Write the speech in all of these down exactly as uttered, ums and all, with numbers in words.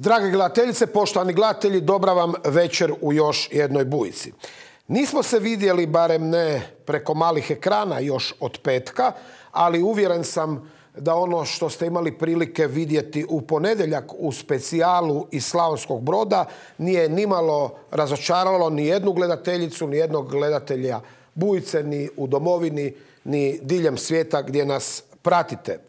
Drage gledateljice, poštovani gledatelji, dobra vam večer u još jednoj bujici. Nismo se vidjeli, barem ne preko malih ekrana, još od petka, ali uvjeren sam da ono što ste imali prilike vidjeti u ponedjeljak u specijalu iz Slavonskog Broda nije nimalo razočaralo ni jednu gledateljicu, ni jednog gledatelja bujice, ni u domovini, ni diljem svijeta gdje nas pratite.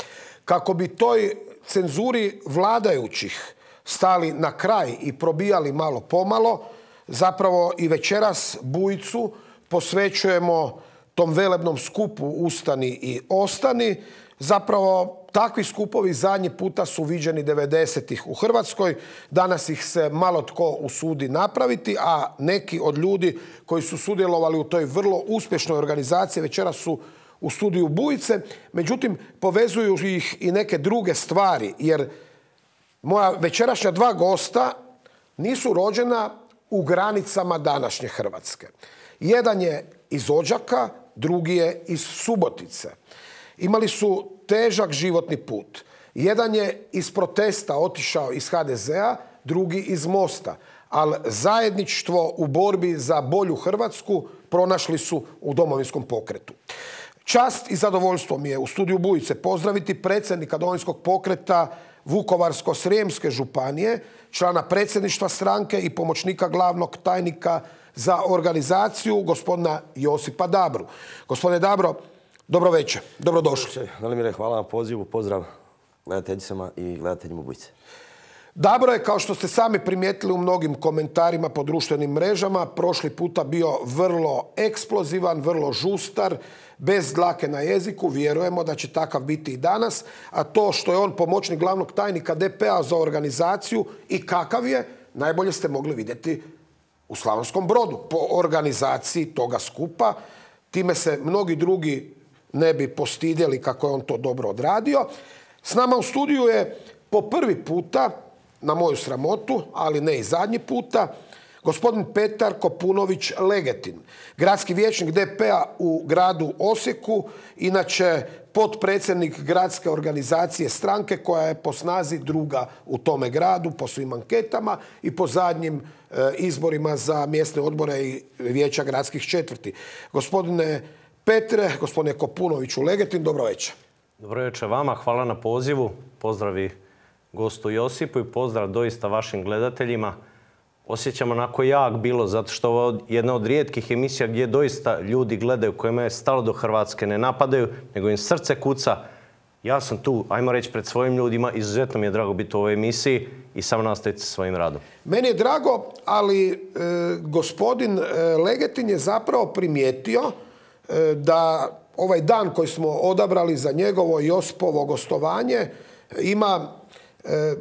Kako bi toj cenzuri vladajućih stali na kraj i probijali malo pomalo, zapravo i večeras bujicu posvećujemo tom velebnom skupu Ustani i ostani. Zapravo takvi skupovi zadnji puta su viđeni devedesetih u Hrvatskoj. Danas ih se malo tko usudi napraviti, a neki od ljudi koji su sudjelovali u toj vrlo uspješnoj organizaciji večeras su u studiju bujice. Međutim, povezuju ih i neke druge stvari, jer moja večerašnja dva gosta nisu rođena u granicama današnje Hrvatske. Jedan je iz Odžaka, drugi je iz Subotice. Imali su težak životni put. Jedan je iz protesta otišao iz ha de zea, drugi iz Mosta. Ali zajedništvo u borbi za bolju Hrvatsku pronašli su u Domovinskom pokretu. Čast i zadovoljstvo mi je u studiju bujice pozdraviti predsjednika Domovinskog pokreta Vukovarsko-srijemske županije, člana predsjedništva stranke i pomoćnika glavnog tajnika za organizaciju, gospodina Josipa Dabru. Gospodine Dabro, dobro večer, dobrodošli. Velimire, hvala na pozivu, pozdrav gledateljicama i gledateljima bujice. Dabro je, kao što ste sami primijetili u mnogim komentarima po društvenim mrežama, prošli puta bio vrlo eksplozivan, vrlo žustar, bez dlake na jeziku. Vjerujemo da će takav biti i danas. A to što je on pomoćnik glavnog tajnika de pe a za organizaciju i kakav je, najbolje ste mogli vidjeti u Slavonskom Brodu po organizaciji toga skupa. Time se mnogi drugi ne bi postidjeli kako je on to dobro odradio. S nama u studiju je po prvi puta, na moju sramotu, ali ne i zadnji puta, gospodin Petar Kopunović-Legetin, gradski vijećnik de pe a u gradu Osijeku, inače potpredsjednik gradske organizacije stranke koja je po snazi druga u tome gradu, po svim anketama i po zadnjim e, izborima za mjesne odbore i vijeća gradskih četvrti. Gospodine Petre, gospodine Kopunoviću-Legetin, dobro večer. Dobro večer vama, hvala na pozivu, pozdravi gostu Josipu i pozdrav doista vašim gledateljima. Osjećam onako jak bilo, zato što ovo je jedna od rijetkih emisija gdje doista ljudi gledaju, kojima je stalo do Hrvatske, ne napadaju, nego im srce kuca. Ja sam tu, ajmo reći, pred svojim ljudima, izuzetno mi je drago biti u ovoj emisiji i samo nastaviti sa svojim radom. Meni je drago, ali e, gospodin e, Legetin je zapravo primijetio e, da ovaj dan koji smo odabrali za njegovo Josipovo gostovanje ima e,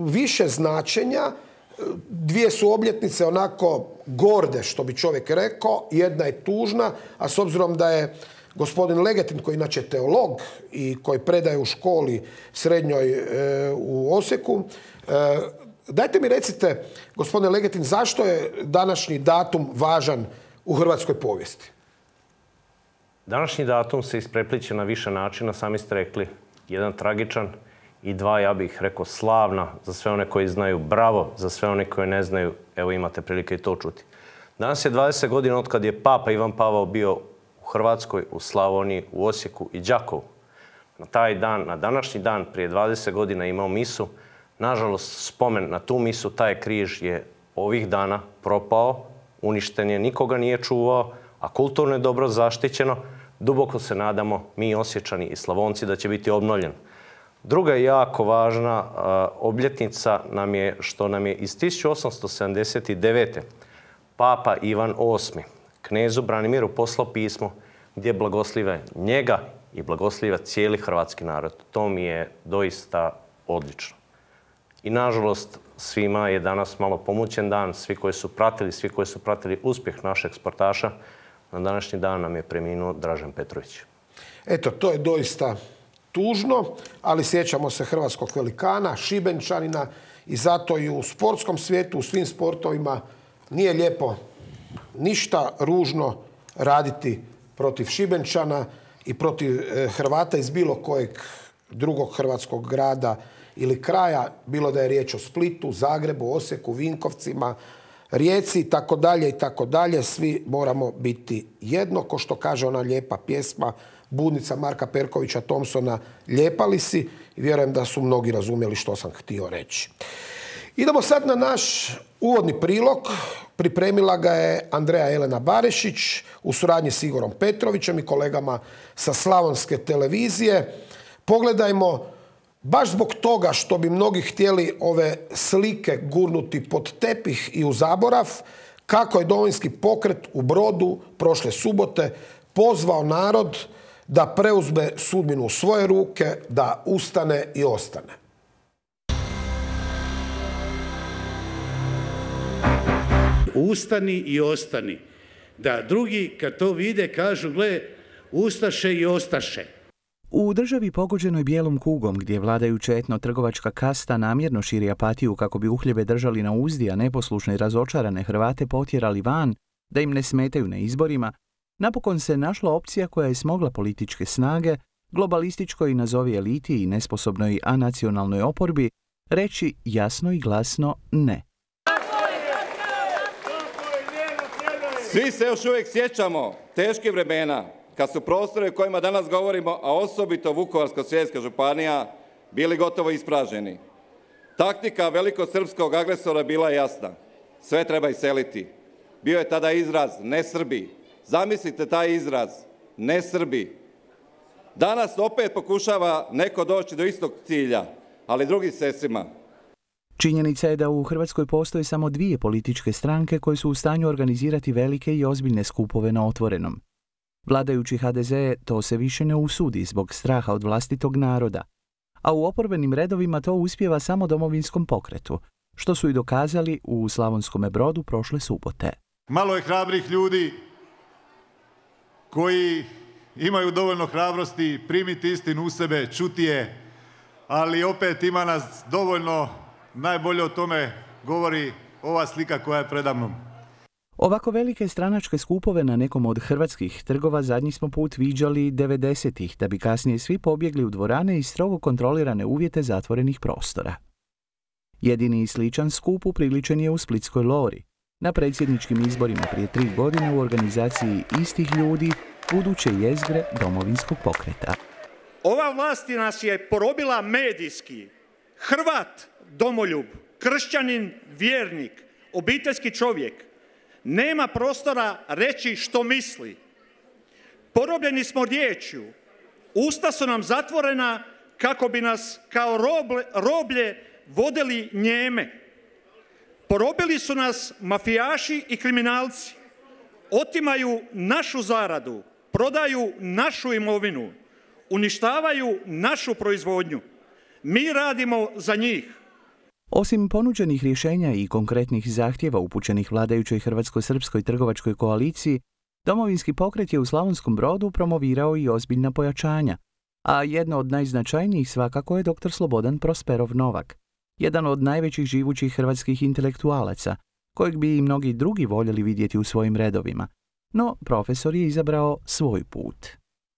više značenja. Dvije su obljetnice onako gorde, što bi čovjek rekao, jedna je tužna, a s obzirom da je gospodin Legetin, koji je inače teolog i koji predaje u školi srednjoj e, u Osijeku, e, dajte mi recite, gospodine Legetin, zašto je današnji datum važan u hrvatskoj povijesti? Današnji datum se isprepliče na više načina, sami ste rekli, jedan tragičan i dva, ja bih rekao, slavna za sve one koji znaju, bravo za sve one koji ne znaju, evo imate prilike i to čuti. Danas je dvadeset godina od kad je Papa Ivan Pavao bio u Hrvatskoj, u Slavoniji, u Osijeku i Đakovu. Na taj dan, na današnji dan, prije dvadeset godina imao misu. Nažalost, spomen na tu misu, taj križ je ovih dana propao, uništen je, nikoga nije čuvao, a kulturno je dobro zaštićeno. Duboko se nadamo, mi Osječani i Slavonci, da će biti obnovljen. Druga je jako važna obljetnica nam je što nam je iz tisuću osamsto sedamdeset devete. Papa Ivan osmi knezu Branimiru poslao pismo gdje blagoslive njega i blagoslive cijeli hrvatski narod. To mi je doista odlično. I nažalost svima je danas malo pomućen dan. Svi koji su pratili, svi koji su pratili uspjeh našeg sportaša, na današnji dan nam je preminuo Dražen Petrović. Eto, to je doista tužno, ali sjećamo se hrvatskog velikana, Šibenčanina i zato i u sportskom svijetu, u svim sportovima nije lijepo ništa ružno raditi protiv Šibenčana i protiv Hrvata iz bilo kojeg drugog hrvatskog grada ili kraja, bilo da je riječ o Splitu, Zagrebu, Osijeku, Vinkovcima, Rijeci i tako dalje i tako dalje. Svi moramo biti jedno, ko što kaže ona lijepa pjesma Budnica Marka Perkovića Thompsona, lijepali si, i vjerujem da su mnogi razumjeli što sam htio reći. Idemo sad na naš uvodni prilog. Pripremila ga je Andreja Elena Barešić u suradnji s Igorom Petrovićem i kolegama sa Slavonske televizije. Pogledajmo, baš zbog toga što bi mnogi htjeli ove slike gurnuti pod tepih i u zaborav, kako je Domovinski pokret u Brodu prošle subote pozvao narod da preuzme sudbinu u svoje ruke, da ustane i ostane. Ustani i ostani. Da drugi kad to vide kažu, gle, ustaše i ostaše. U državi pogođenoj bijelom kugom, gdje vladajuća etno-trgovačka kasta namjerno širi apatiju kako bi uhljebe držali na uzdi, a neposlušne i razočarane Hrvate potjerali van, da im ne smetaju na izborima, napokon se našla opcija koja je smogla političke snage, globalističkoj nazovi eliti i nesposobnoj anacionalnoj oporbi, reći jasno i glasno ne. Svi se još uvijek sjećamo teških vremena, kad su prostore o kojima danas govorimo, a osobito Vukovarsko-srijemska županija, bili gotovo ispraženi. Taktika velikosrpskog agresora bila je jasna. Sve treba iseliti. Bio je tada izraz ne Srbi. Zamislite taj izraz ne Srbi. Danas opet pokušava neko doći do istog cilja, ali drugim sredstvima. Činjenica je da u Hrvatskoj postoje samo dvije političke stranke koje su u stanju organizirati velike i ozbiljne skupove na otvorenom. Vladajući ha de ze to se više ne usudi zbog straha od vlastitog naroda, a u oporbenim redovima to uspijeva samo Domovinskom pokretu, što su i dokazali u Slavonskome Brodu prošle subote. Malo je hrabrih ljudi koji imaju dovoljno hrabrosti primiti istinu u sebe, čuti je, ali opet ima nas dovoljno. Najbolje o tome govori ova slika koja je predamnom. Ovako velike stranačke skupove na nekom od hrvatskih trgova zadnji smo put viđali devedesetih, da bi kasnije svi pobjegli u dvorane i strogo kontrolirane uvjete zatvorenih prostora. Jedini sličan skup upriličen je u Splitskoj Lori, na predsjedničkim izborima prije tri godine u organizaciji istih ljudi, buduće jezgre Domovinskog pokreta. Ova vlast nas je porobila medijski. Hrvat, domoljub, kršćanin, vjernik, obiteljski čovjek. Nema prostora reći što misli. Porobljeni smo riječju. Usta su nam zatvorena kako bi nas kao roble, roblje vodili njeme. Porobili su nas mafijaši i kriminalci. Otimaju našu zaradu, prodaju našu imovinu, uništavaju našu proizvodnju. Mi radimo za njih. Osim ponuđenih rješenja i konkretnih zahtjeva upućenih vladajućoj hrvatsko-srpskoj trgovačkoj koaliciji, Domovinski pokret je u Slavonskom Brodu promovirao i ozbiljna pojačanja, a jedno od najznačajnijih svakako je doktor Slobodan Prosperov Novak, jedan od najvećih živućih hrvatskih intelektualaca, kojeg bi i mnogi drugi voljeli vidjeti u svojim redovima. No, profesor je izabrao svoj put.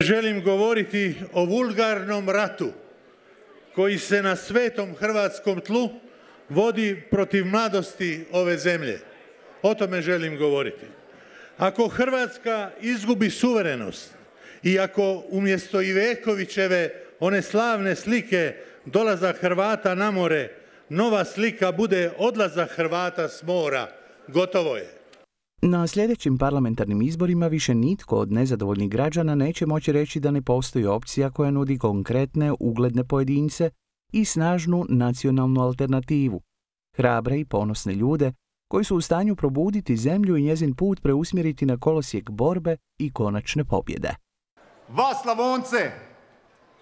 Želim govoriti o vulgarnom ratu koji se na svetom hrvatskom tlu vodi protiv mladosti ove zemlje. O tome želim govoriti. Ako Hrvatska izgubi suverenost i ako umjesto Ivekovićeve one slavne slike dolazak Hrvata na more, nova slika bude odlazak Hrvata s mora, gotovo je. Na sljedećim parlamentarnim izborima više nitko od nezadovoljnih građana neće moći reći da ne postoji opcija koja nudi konkretne, ugledne pojedince i snažnu nacionalnu alternativu, hrabre i ponosne ljude koji su u stanju probuditi zemlju i njezin put preusmjeriti na kolosijek borbe i konačne pobjede. Vas Slavonce,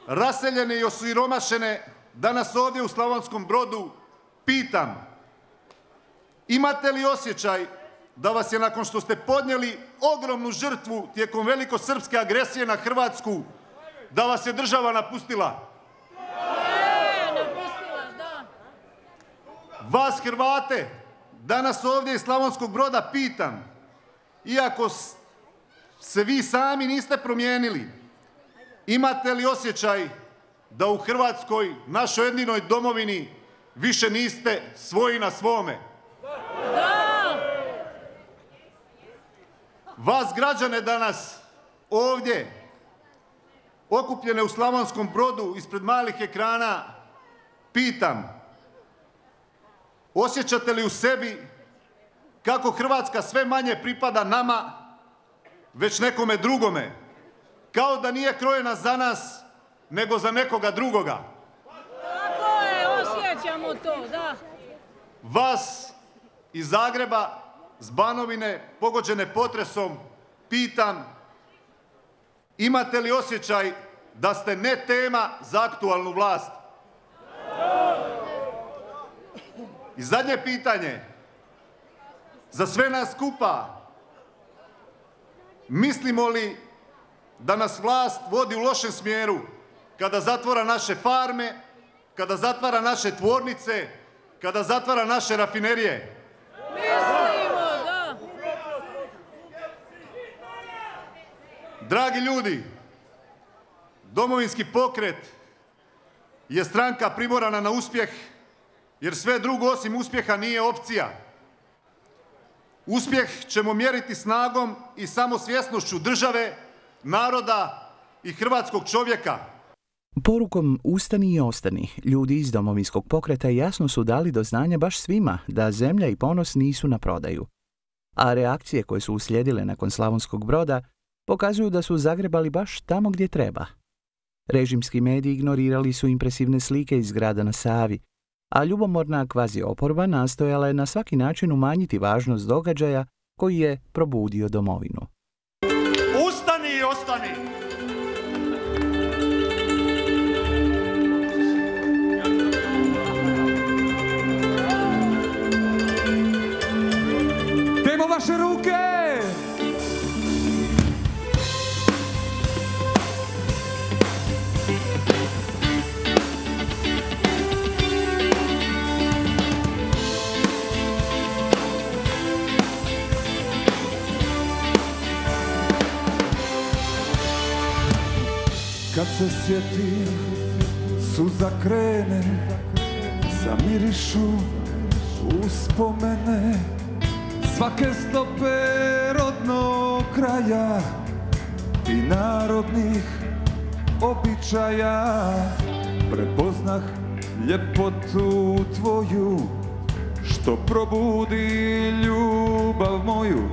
raseljene i osiromašene, danas ovdje u Slavonskom Brodu pitam, imate li osjećaj da vas je nakon što ste podnijeli ogromnu žrtvu tijekom velikosrpske agresije na Hrvatsku, da vas je država napustila? Vas Hrvate, danas ovdje iz Slavonskog Broda pitam, iako se vi sami niste promijenili, imate li osjećaj da u Hrvatskoj, našoj jedinoj domovini, više niste svoji na svome. Vas građane danas ovdje, okupljene u Slavonskom Brodu ispred malih ekrana, pitam, osjećate li u sebi kako Hrvatska sve manje pripada nama, već nekome drugome, kao da nije krojena za nas, nego za nekoga drugoga? Tako je, osjećamo to, da. Vas iz Zagreba, s Banovine, pogođene potresom, pitam, imate li osjećaj da ste ne tema za aktualnu vlast? I zadnje pitanje, za sve nas skupa, mislimo li da nas vlast vodi u lošem smjeru kada zatvara naše farme, kada zatvara naše tvornice, kada zatvara naše rafinerije? Mislimo, da. Dragi ljudi, Domovinski pokret je stranka primorana na uspjeh, jer sve drugo osim uspjeha nije opcija. Uspjeh ćemo mjeriti snagom i samosvjesnošću države, naroda i hrvatskog čovjeka. Porukom Ustani i ostani, ljudi iz Domovinskog pokreta jasno su dali do znanja baš svima da zemlja i ponos nisu na prodaju. A reakcije koje su uslijedile nakon Slavonskog Broda pokazuju da su zagrebali baš tamo gdje treba. Režimski mediji ignorirali su impresivne slike iz grada na Savi, a ljubomorna kvazi oporba nastojala je na svaki način umanjiti važnost događaja koji je probudio domovinu. Ustani i ostani! Dajmo vaše ruke! Kad se sjetim, suza krene, zamirišu uspomene svake stope rodnog kraja i narodnih običaja. Prepoznah ljepotu tvoju, što probudi ljubav moju.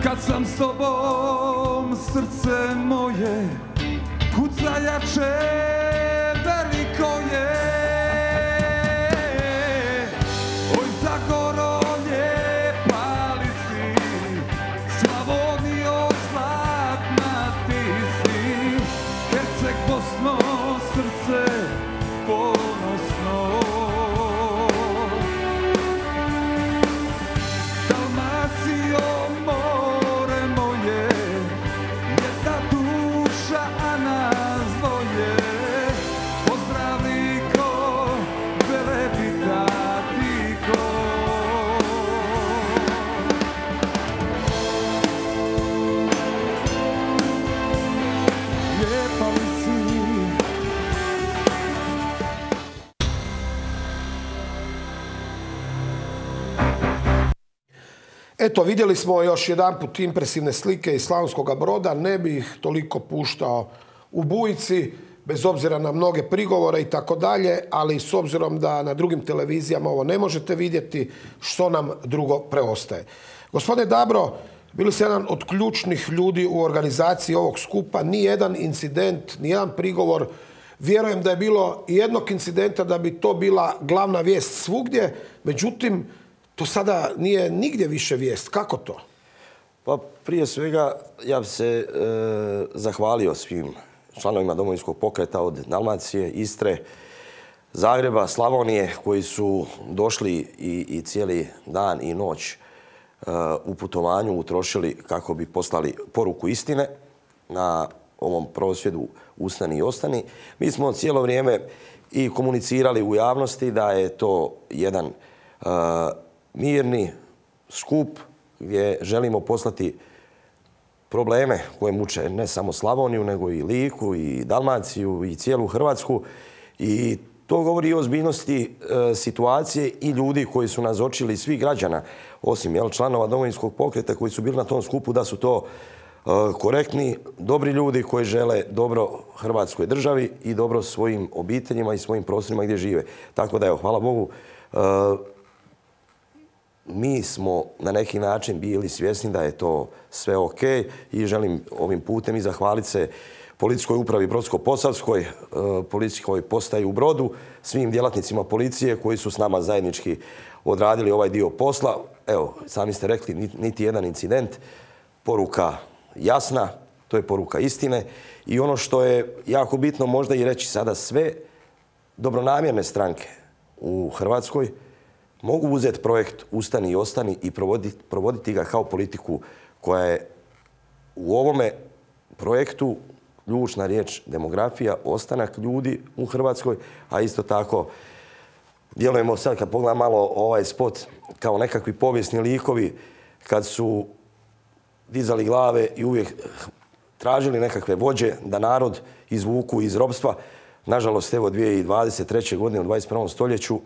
Kad sam s tobom, srce moje kuca jače, veliko je. Oj, Zagoro, lijepa li si, Slavonijo, zlatna ti si, Herceg, Bosno, srce ponosno. Dalmacijo, more moje, jedna duša, a nas dvoje. Pozdravliko, Velebitatiko. Lijepa li si? Eto, vidjeli smo još jedanput impresivne slike iz Slavonskog Broda. Ne bih ih toliko puštao u Bujici, bez obzira na mnoge prigovore i tako dalje, ali s obzirom da na drugim televizijama ovo ne možete vidjeti, što nam drugo preostaje. Gospodine Dabro, bili ste jedan od ključnih ljudi u organizaciji ovog skupa. Nijedan incident, nijedan prigovor. Vjerujem da je bilo i jednog incidenta da bi to bila glavna vijest svugdje, međutim, to sada nije nigdje više vijest. Kako to? Pa prije svega ja bi se e, zahvalio svim članovima Domovinskog pokreta od Dalmacije, Istre, Zagreba, Slavonije, koji su došli i, i cijeli dan i noć e, u putovanju utrošili kako bi poslali poruku istine na ovom prosvjedu Ustani i ostani. Mi smo cijelo vrijeme i komunicirali u javnosti da je to jedan e, mirni skup gdje želimo poslati probleme koje muče ne samo Slavoniju, nego i Liku, i Dalmaciju, i cijelu Hrvatsku. I to govori o ozbiljnosti e, situacije i ljudi koji su nazočili, svih građana, osim jel, članova Domovinskog pokreta koji su bili na tom skupu, da su to e, korektni, dobri ljudi koji žele dobro Hrvatskoj državi i dobro svojim obiteljima i svojim prostorima gdje žive. Tako da, evo, hvala Bogu, e, mi smo na neki način bili svjesni da je to sve ok i želim ovim putem i zahvaliti se Policijskoj upravi Brodsko-Posavskoj, policijskoj postaji u Brodu, svim djelatnicima policije koji su s nama zajednički odradili ovaj dio posla. Evo, sami ste rekli, niti jedan incident, poruka jasna, to je poruka istine. I ono što je jako bitno možda i reći sada, sve dobronamjerne stranke u Hrvatskoj mogu uzeti projekt Ustani i ostani i provoditi, provoditi ga kao politiku koja je u ovome projektu ključna riječ demografija, ostanak ljudi u Hrvatskoj, a isto tako djelujemo sad kad pogledam malo ovaj spot kao nekakvi povijesni likovi kad su dizali glave i uvijek tražili nekakve vođe da narod izvuku iz ropstva. Nažalost, evo dvije tisuće dvadeset treće. godine u dvadeset prvom stoljeću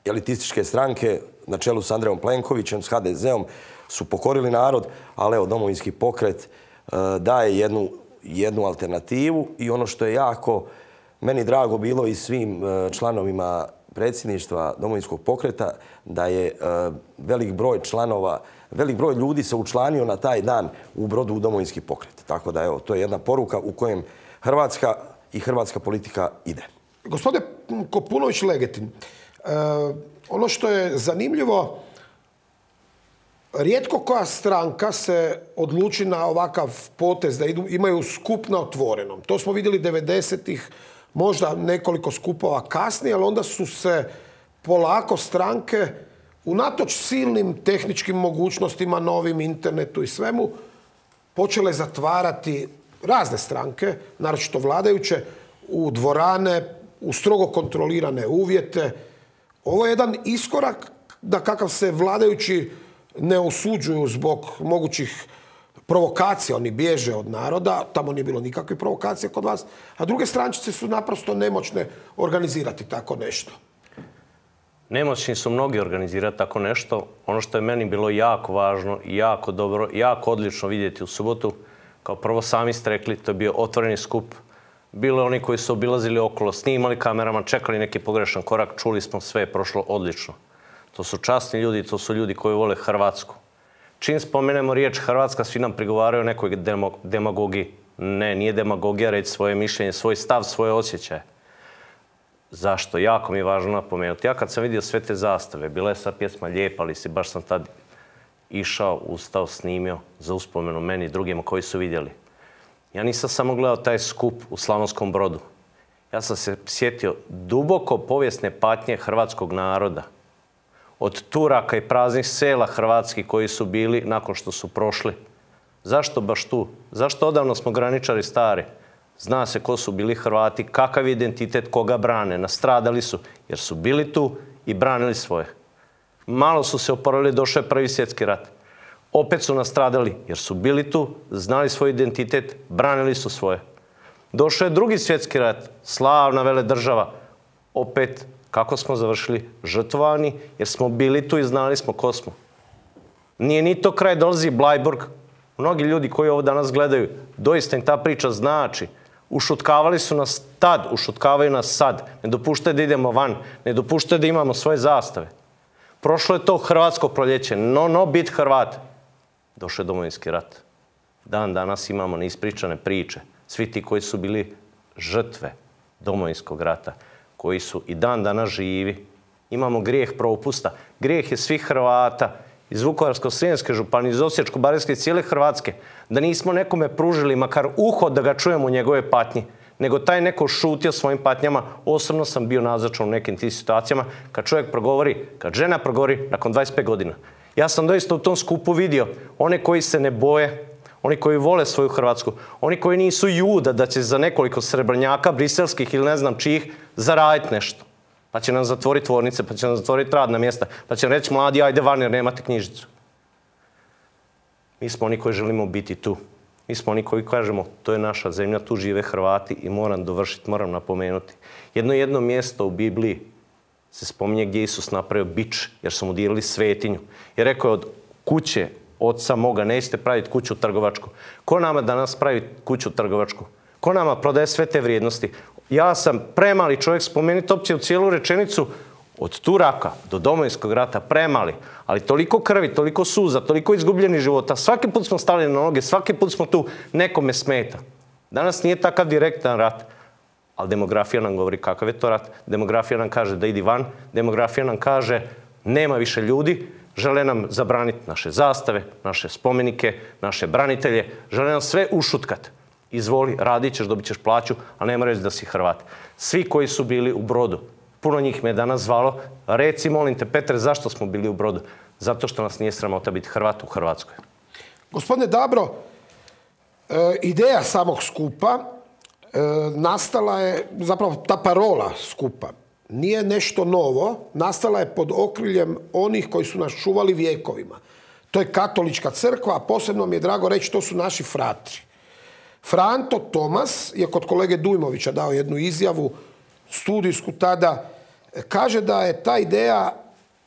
elitističke stranke na čelu s Andrejom Plenkovićem, s ha de zeom su pokorili narod, ali evo Domovinski pokret uh, daje jednu jednu alternativu i ono što je jako meni drago bilo i svim članovima predsjedništva Domovinskog pokreta da je velik broj članova, velik broj ljudi se učlanio na taj dan u Brodu u Domovinski pokret. Tako da evo, to je jedna poruka u kojem Hrvatska i hrvatska politika ide. Gospodine Kopunović-Legetin, ono što je zanimljivo, rijetko koja stranka se odluči na ovakav potez da idu, imaju skup na otvorenom. To smo vidjeli devedesetih, možda nekoliko skupova kasnije, ali onda su se polako stranke, unatoč silnim tehničkim mogućnostima, novim internetu i svemu, počele zatvarati razne stranke, naročito vladajuće, u dvorane, u strogo kontrolirane uvjete. Ovo je jedan iskorak da kakav se vladajući ne osuđuju zbog mogućih provokacija, oni bježe od naroda, tamo nije bilo nikakve provokacije kod vas, a druge strančice su naprosto nemoćne organizirati tako nešto. Nemoćni su mnogi organizirati tako nešto. Ono što je meni bilo jako važno i jako dobro, jako odlično vidjeti u subotu, kao prvo sami ste rekli, to je bio otvoreni skup. Bilo je oni koji su obilazili okolo, snimali kamerama, čekali neki pogrešan korak, čuli smo, sve je prošlo odlično. To su časni ljudi, to su ljudi koji vole Hrvatsku. Čim spomenemo riječ Hrvatska, svi nam prigovaraju o nekoj demagogiji. Ne, nije demagogija reći svoje mišljenje, svoj stav, svoje osjećaje. Zašto? Jako mi je važno napomenuti. Ja kad sam vidio sve te zastave, bila je sad pjesma Lijepa li si, baš sam tad išao, ustao, snimio za uspomenu meni i drugima koji su vidjeli. Ja nisam samo gledao taj skup u Slavonskom Brodu. Ja sam se sjetio duboko povijesne patnje hrvatskog naroda. Od Turaka i praznih sela hrvatskih koji su bili nakon što su prošli. Zašto baš tu? Zašto odavno smo graničari stari? Zna se ko su bili Hrvati, kakav je identitet, koga brane. Nastradali su jer su bili tu i branili svoje. Malo su se oporavili, došao je Prvi svjetski rat. Opet su nastradali jer su bili tu, znali svoj identitet, branili su svoje. Došao je Drugi svjetski rat, slavna veledržava. Opet, kako smo završili? Žrtvovani jer smo bili tu i znali smo ko smo. Nije ni to kraj, dolazi Blajburg. Mnogi ljudi koji ovo danas gledaju, doista im ta priča znači. Ušutkavali su nas tad, ušutkavaju nas sad. Ne dopuštaju da idemo van, ne dopuštaju da imamo svoje zastave. Prošlo je to hrvatsko proljeće, no, no, bit Hrvat. Došao je Domovinski rat. Dan danas imamo neispričane priče. Svi ti koji su bili žrtve Domovinskog rata, koji su i dan danas živi. Imamo grijeh propusta. Grijeh je svih Hrvata iz Vukovarsko-srijemske županije, iz Osječko-baranjske i cijele Hrvatske, da nismo nekome pružili makar uho da ga čujemo u njegove patnji, nego taj neko šutio svojim patnjama. Osobno sam bio nazočan u nekim tim situacijama kad čovjek progovori, kad žena progovori nakon dvadeset pet godina. Ja sam doista u tom skupu vidio one koji se ne boje, oni koji vole svoju Hrvatsku, oni koji nisu juda da će za nekoliko srebrnjaka, briselskih ili ne znam čijih, zaraditi nešto. Pa će nam zatvoriti tvornice, pa će nam zatvoriti radna mjesta, pa će nam reći mladi, ajde van jer nemate knjižicu. Mi smo oni koji želimo biti tu. Mi smo oni koji kažemo, to je naša zemlja, tu žive Hrvati i moram dovršiti, moram napomenuti. Jedno jedno mjesto u Bibliji se spominje gdje Isus napravio bič, jer su mu dijelili svetinju. I rekao je, od kuće oca moga nećete praviti kuću trgovačku. Ko nama danas pravi kuću trgovačku? Ko nama prodaje sve te vrijednosti? Ja sam premali čovjek, spomenuti opće u cijelu rečenicu, od Turaka do Domovinskog rata premali, ali toliko krvi, toliko suza, toliko izgubljenih života. Svaki put smo stali na noge, svaki put smo tu, nekome smeta. Danas nije takav direktan rat, ali demografija nam govori kakav je to rat. Demografija nam kaže da idi van, demografija nam kaže nema više ljudi, žele nam zabraniti naše zastave, naše spomenike, naše branitelje, žele nam sve ušutkat. Izvoli, radit ćeš, dobit ćeš plaću, a nema reći da si Hrvat. Svi koji su bili u Brodu, puno njih me je danas zvalo, reci molim te Petre, zašto smo bili u Brodu? Zato što nas nije sramota biti Hrvat u Hrvatskoj. Gospodine Dabro, e, ideja samog skupa e, nastala je, zapravo ta parola skupa, nije nešto novo, nastala je pod okriljem onih koji su nas čuvali vijekovima. To je katolička crkva, a posebno mi je drago reći, to su naši fratri. Franto Tomas je kod kolege Dujmovića dao jednu izjavu, studijsku tada, kaže da je ta ideja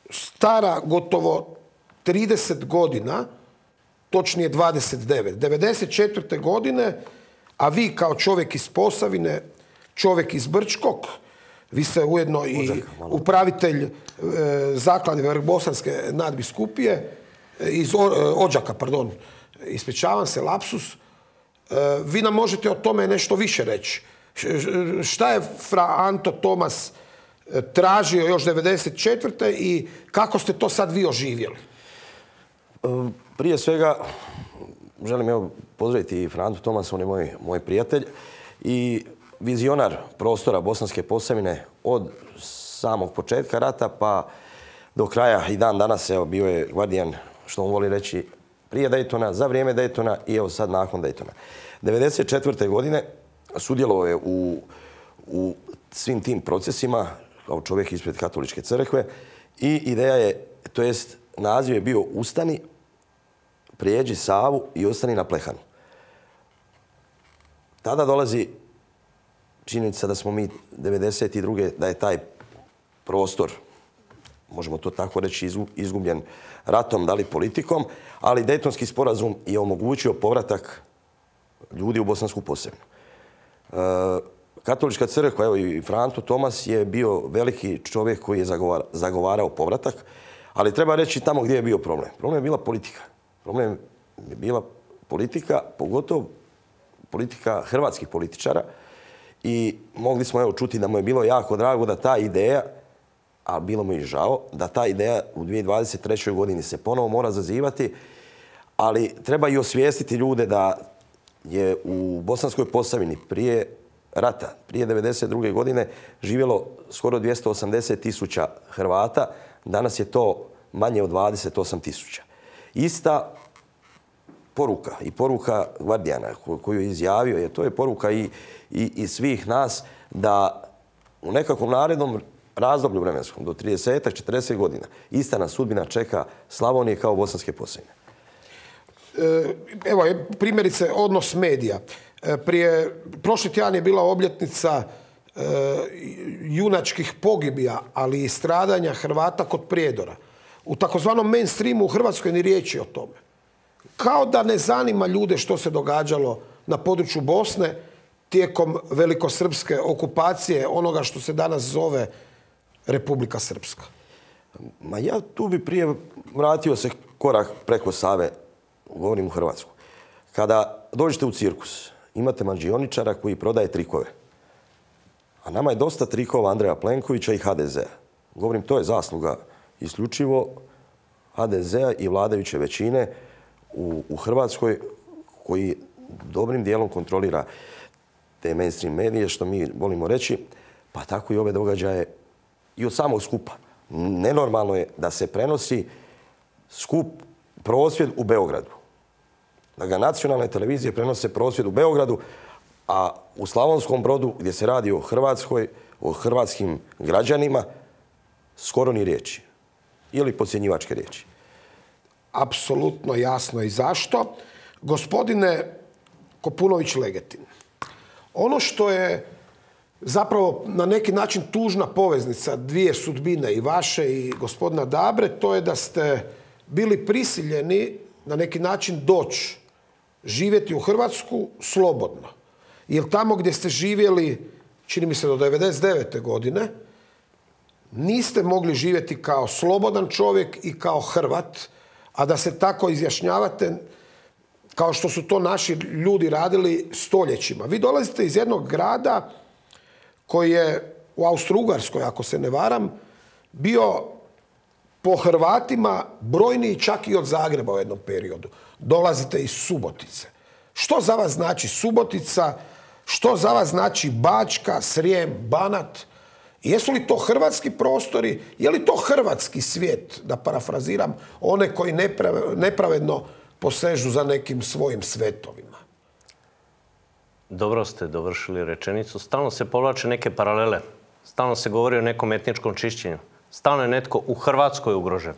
stara gotovo trideset godina, točnije dvadeset devet. devedeset četvrte godine, a vi kao čovjek iz Posavine, čovjek iz Brčkog, vi ste ujedno i upravitelj e, zaklade Velikobosanske nadbiskupije, iz o, Odžaka, pardon, ispričavam se, lapsus, e, vi nam možete o tome nešto više reći. Šta je fra Anto Tomas tražio još devedeset četvrte i kako ste to sad vi oživjeli? Prije svega, želim evo pozdraviti i Frantu Tomasa, on je moj, moj prijatelj i vizionar prostora Bosanske Posavine od samog početka rata pa do kraja i dan danas evo, bio je gvardijan, što on voli reći, prije Daytona, za vrijeme Daytona i evo sad nakon Daytona. devedeset četvrte godine sudjelovao je u, u svim tim procesima kao čovjek ispred katoličke crkve i ideja je, to jest naziv je bio Ustani, prijeđi Savu i ostani na Plehanu. Tada dolazi činjenica da smo mi devedeset druge da je taj prostor, možemo to tako reći, izgubljen ratom, da li politikom, ali Dejtonski sporazum je omogućio povratak ljudi u Bosansku Posavinu. Katolička crkva, evo i Franto Tomas je bio veliki čovjek koji je zagovarao povratak, ali treba reći tamo gdje je bio problem. Problem je bila politika. Problem je bila politika, pogotovo politika hrvatskih političara i mogli smo evo čuti da mu je bilo jako drago da ta ideja, a bilo mu i žao, da ta ideja u dvije tisuće dvadeset trećoj godini se ponovo mora zazivati, ali treba i osvijestiti ljude da je u Bosanskoj Posavini prije rata, prije devedeset druge godine živjelo skoro dvjesto osamdeset tisuća Hrvata, danas je to manje od dvadeset osam tisuća. Ista poruka i poruka gvardijana koju je izjavio, je, to je poruka i, i, i svih nas da u nekakvom narednom razdoblju vremenskom, do trideset četrdeset godina, ista nas sudbina čeka Slavonije kao Bosanske Posavine. Evo, primjerice, odnos medija. Prije, prošli tjedan je bila obljetnica e, junačkih pogibija, ali i stradanja Hrvata kod Prijedora. U takozvanom mainstreamu u Hrvatskoj ni riječi o tome. Kao da ne zanima ljude što se događalo na području Bosne tijekom velikosrpske okupacije onoga što se danas zove Republika Srpska. Ma ja tu bi prije vratio se korak preko Save, govorim u Hrvatsku. Kada dođete u cirkus, imate mađioničara koji prodaje trikove. A nama je dosta trikova Andreja Plenkovića i ha de zea. Govorim, to je zasluga isključivo ha de zea i vladajuće većine u, u Hrvatskoj koji dobrim dijelom kontrolira te mainstream medije, što mi volimo reći, pa tako i ove događaje i od samog skupa. Nenormalno je da se prenosi skup, prosvjed u Beogradu. Da ga nacionalne televizije prenose prosvjed u Beogradu, a u Slavonskom Brodu, gdje se radi o Hrvatskoj, o hrvatskim građanima, skoro ni riječi. Ili podcjenjivačke riječi. apsolutno jasno i zašto. Gospodine Kopunović-Legetin, ono što je zapravo na neki način tužna poveznica dvije sudbine, i vaše i gospodina Dabre, to je da ste bili prisiljeni na neki način doći živjeti u Hrvatsku slobodno. Jer tamo gdje ste živjeli, čini mi se do devedeset devete godine, niste mogli živjeti kao slobodan čovjek i kao Hrvat, a da se tako izjašnjavate kao što su to naši ljudi radili stoljećima. Vi dolazite iz jednog grada koji je u Austro-Ugarskoj, ako se ne varam, bio po Hrvatima brojniji čak i od Zagreba u jednom periodu. Dolazite iz Subotice. Što za vas znači Subotica? Što za vas znači Bačka, Srijem, Banat? Jesu li to hrvatski prostori? Je li to hrvatski svijet, da parafraziram one koji nepravedno posežu za nekim svojim svetovima? Dobro ste dovršili rečenicu. Stalno se povlače neke paralele. Stalno se govori o nekom etničkom čišćenju. Stalno je netko u Hrvatskoj ugrožen.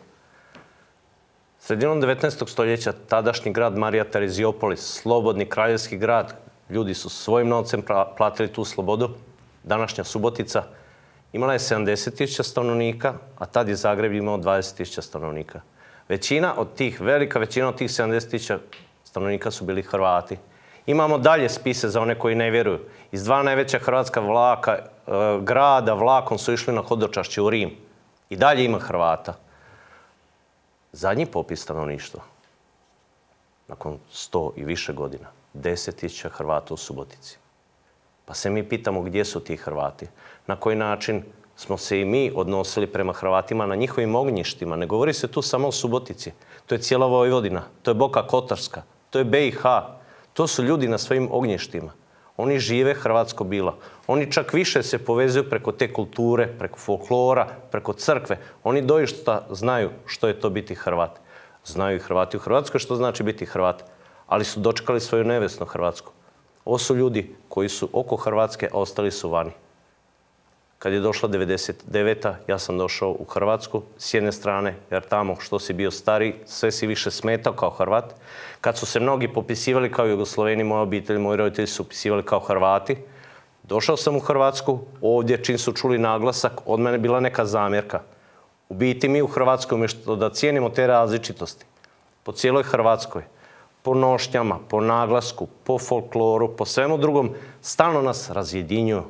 Sredinom devetnaestog stoljeća tadašnji grad Marija Tereziopolis, slobodni kraljevski grad, ljudi su svojim novcem platili tu slobodu. Današnja Subotica imala je sedamdeset tisuća stanovnika, a tad je Zagreb imao dvadeset tisuća stanovnika. Većina od tih, velika većina od tih sedamdeset tisuća stanovnika su bili Hrvati. Imamo dalje spise za one koji ne vjeruju. Iz dva najveća hrvatska vlaka, e, grada vlakom su išli na hodočašće u Rim. I dalje ima Hrvata. Zadnji popis stanovništva, nakon sto i više godina, deset tisuća Hrvata u Subotici. Pa se mi pitamo gdje su ti Hrvati. Na koji način smo se i mi odnosili prema Hrvatima na njihovim ognjištima. Ne govori se tu samo o Subotici. To je cijela Vojvodina, to je Boka Kotarska, to je B i H. To su ljudi na svojim ognjištima. Oni žive hrvatsko bilo. Oni čak više se povezuju preko te kulture, preko folklora, preko crkve. Oni doista znaju što je to biti Hrvat. Znaju i Hrvati u Hrvatskoj što znači biti Hrvat, ali su dočekali svoju nevjesnu Hrvatsku. Ovo su ljudi koji su oko Hrvatske, a ostali su vani. Kad je došla devedeset deveta ja sam došao u Hrvatsku s jedne strane, jer tamo što si bio stari, sve si više smetao kao Hrvat. Kad su se mnogi popisivali kao Jugosloveni, moja obitelj, moji roditelji su upisivali kao Hrvati. Došao sam u Hrvatsku, ovdje čim su čuli naglasak, od mene bila neka zamjerka. U biti mi u Hrvatskoj, umjesto da cijenimo te različitosti, po cijeloj Hrvatskoj, po nošnjama, po naglasku, po folkloru, po svemu drugom, stalno nas razjedinjuju.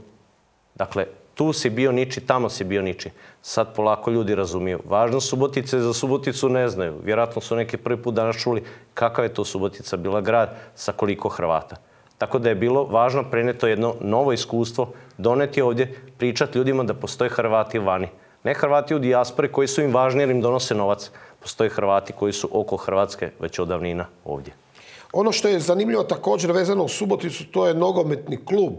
Dakle, tu si bio niči, tamo si bio niči. Sad polako ljudi razumiju. Važno Subotice za Suboticu ne znaju. Vjerojatno su neki prvi put danas čuli kakav je to Subotica bila grad sa koliko Hrvata. Tako da je bilo važno prenijeti jedno novo iskustvo, doneti ovdje, pričati ljudima da postoje Hrvati vani. Ne Hrvati u dijaspori koji su im važni jer im donose novac. Postoje Hrvati koji su oko Hrvatske već od davnina ovdje. Ono što je zanimljivo također vezano u Suboticu, to je nogometni klub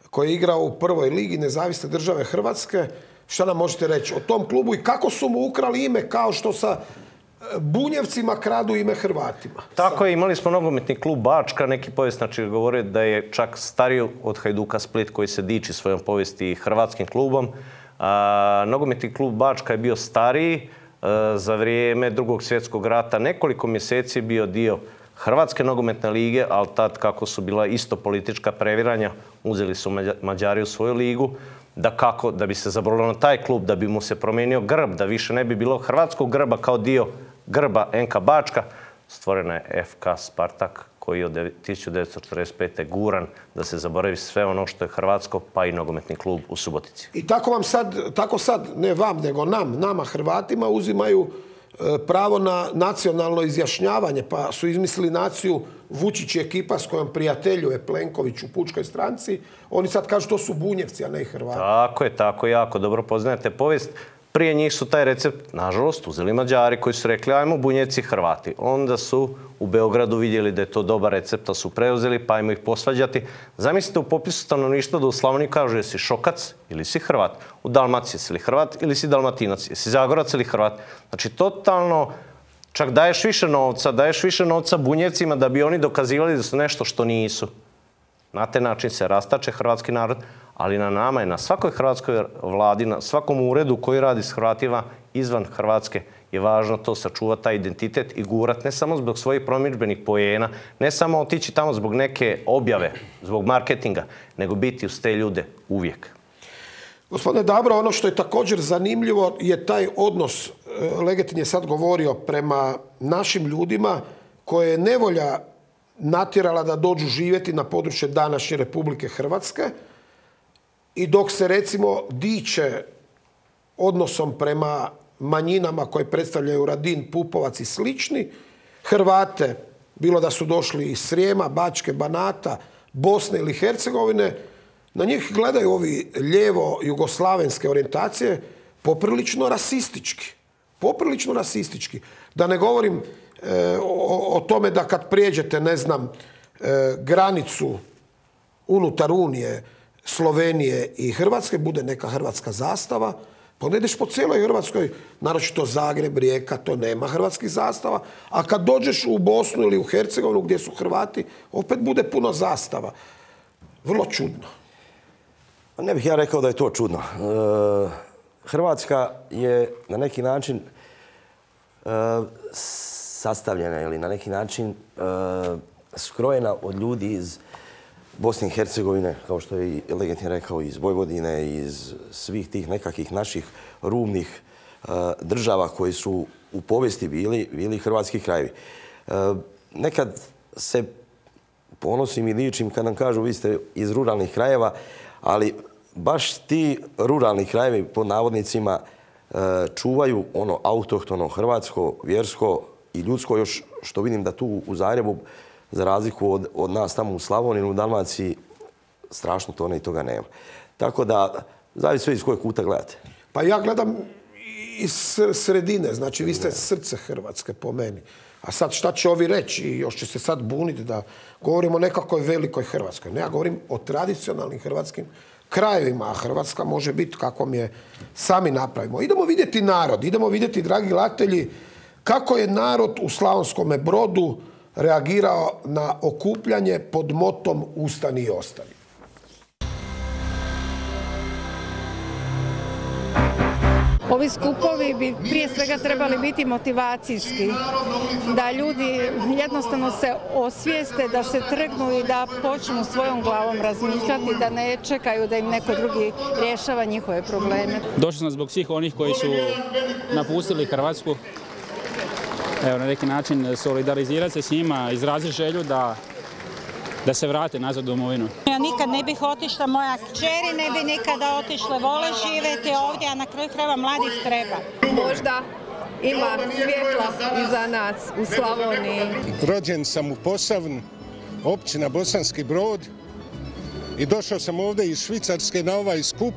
koji je igrao u prvoj ligi Nezavisne države Hrvatske. Šta nam možete reći o tom klubu i kako su mu ukrali ime kao što sa Bunjevcima kradu ime Hrvatima? Tako je, imali smo nogometni klub Bačka, neki povjesničari govore da je čak stariji od Hajduka Split koji se diči svojom povijesti hrvatskim klubom. A, nogometni klub Bačka je bio stariji a, za vrijeme Drugog svjetskog rata. Nekoliko mjeseci je bio dio Hrvatske nogometne lige, ali tad kako su bila isto politička previranja, uzeli su Mađari u svoju ligu, da kako, da bi se zaboravilo na taj klub, da bi mu se promijenio grb, da više ne bi bilo hrvatskog grba kao dio grba N K Bačka, stvorena je F K Spartak koji je od tisuću devetsto četrdeset pete guran da se zaboravi sve ono što je hrvatsko, pa i nogometni klub u Subotici. I tako vam sad, tako sad, ne vam, nego nam, nama Hrvatima uzimaju pravo na nacionalno izjašnjavanje, pa su izmislili naciju Vučić i ekipa s kojom prijateljuje Plenković u Pučkoj stranci. Oni sad kažu to su Bunjevci, a ne Hrvati. Tako je, tako jako dobro poznajete povijest. Prije njih su taj recept, nažalost, uzeli Mađari koji su rekli ajmo Bunjevci Hrvati. Onda su u Beogradu vidjeli da je to dobar recept, a su preuzeli pa ajmo ih posvađati. Zamislite u popisu stanovništva da u Slavoniji kažu jesi Šokac ili si Hrvat. U Dalmaciji jesi li Hrvat ili si Dalmatinac, jesi Zagorac ili Hrvat. Znači totalno, čak daješ više novca, daješ više novca Bunjevcima da bi oni dokazivali da su nešto što nisu. Na taj način se rastače hrvatski narod, ali na nama je, na svakoj hrvatskoj vladi, na svakom uredu koji radi s Hrvatima izvan Hrvatske, je je važno to sačuvati, taj identitet i gurat ne samo zbog svojih promidžbenih poena, ne samo otići tamo zbog neke objave, zbog marketinga, nego biti uz te ljude uvijek. Gospodine Dabro, ono što je također zanimljivo je taj odnos, Legetin je sad govorio, prema našim ljudima koje je nevolja natjerala da dođu živjeti na područje današnje Republike Hrvatske i dok se recimo diče odnosom prema manjinama koje predstavljaju Radin, Pupovac i slični, Hrvate, bilo da su došli iz Srijema, Bačke, Banata, Bosne ili Hercegovine, na njih gledaju ovi lijevo jugoslavenske orijentacije poprilično rasistički. Poprilično rasistički. Da ne govorim e, o, o tome da kad prijeđete, ne znam, e, granicu unutar Unije, Slovenije i Hrvatske, bude neka hrvatska zastava, pa onda ideš po cijeloj Hrvatskoj, naročito Zagreb, Rijeka, to nema hrvatskih zastava, a kad dođeš u Bosnu ili u Hercegovinu gdje su Hrvati, opet bude puno zastava. Vrlo čudno. Ne bih ja rekao da je to čudno. E, Hrvatska je na neki način e, sastavljena ili na neki način e, skrojena od ljudi iz Bosne i Hercegovine, kao što je i Legetin rekao, iz Vojvodine, iz svih tih nekakvih naših rubnih e, država koji su u povijesti bili, bili hrvatski krajevi. E, nekad se ponosim i dičim kad nam kažu vi ste iz ruralnih krajeva, ali baš ti ruralni krajevi, pod navodnicima, čuvaju ono autohtono, hrvatsko, vjersko i ljudsko, još što vidim da tu u Zagrebu, za razliku od, od nas tamo u Slavoniji, u Dalmaciji, strašno to i toga nema. Tako da, zavisi sve iz kojeg kuta gledate. Pa ja gledam iz sredine, znači vi ste srce Hrvatske po meni. A sad šta će ovi reći i još će se sad buniti da govorimo o nekakvoj velikoj Hrvatskoj. Ne, ja govorim o tradicionalnim hrvatskim krajevima, a Hrvatska može biti kakvom je sami napravimo. Idemo vidjeti narod, idemo vidjeti, dragi gledatelji, kako je narod u Slavonskom Brodu reagirao na okupljanje pod motom Ustani i ostani. Ovi skupovi bi prije svega trebali biti motivacijski, da ljudi jednostavno se osvijeste, da se trgnu i da počnu svojom glavom razmišljati, da ne čekaju da im neko drugi rješava njihove probleme. Došli smo zbog svih onih koji su napustili Hrvatsku. Evo, na neki način solidarizirati se s njima, izraziti želju da da se vrate nazad u domovinu. Ja nikad ne bih otišla, moja kćeri ne bi nikada otišla, vole živjeti ovdje, a na kraju krajeva mladih treba. Možda ima svjetla iza nas u Slavoniji. Rođen sam u Posavnu, općina Bosanski Brod, i došao sam ovdje iz Švicarske na ovaj skup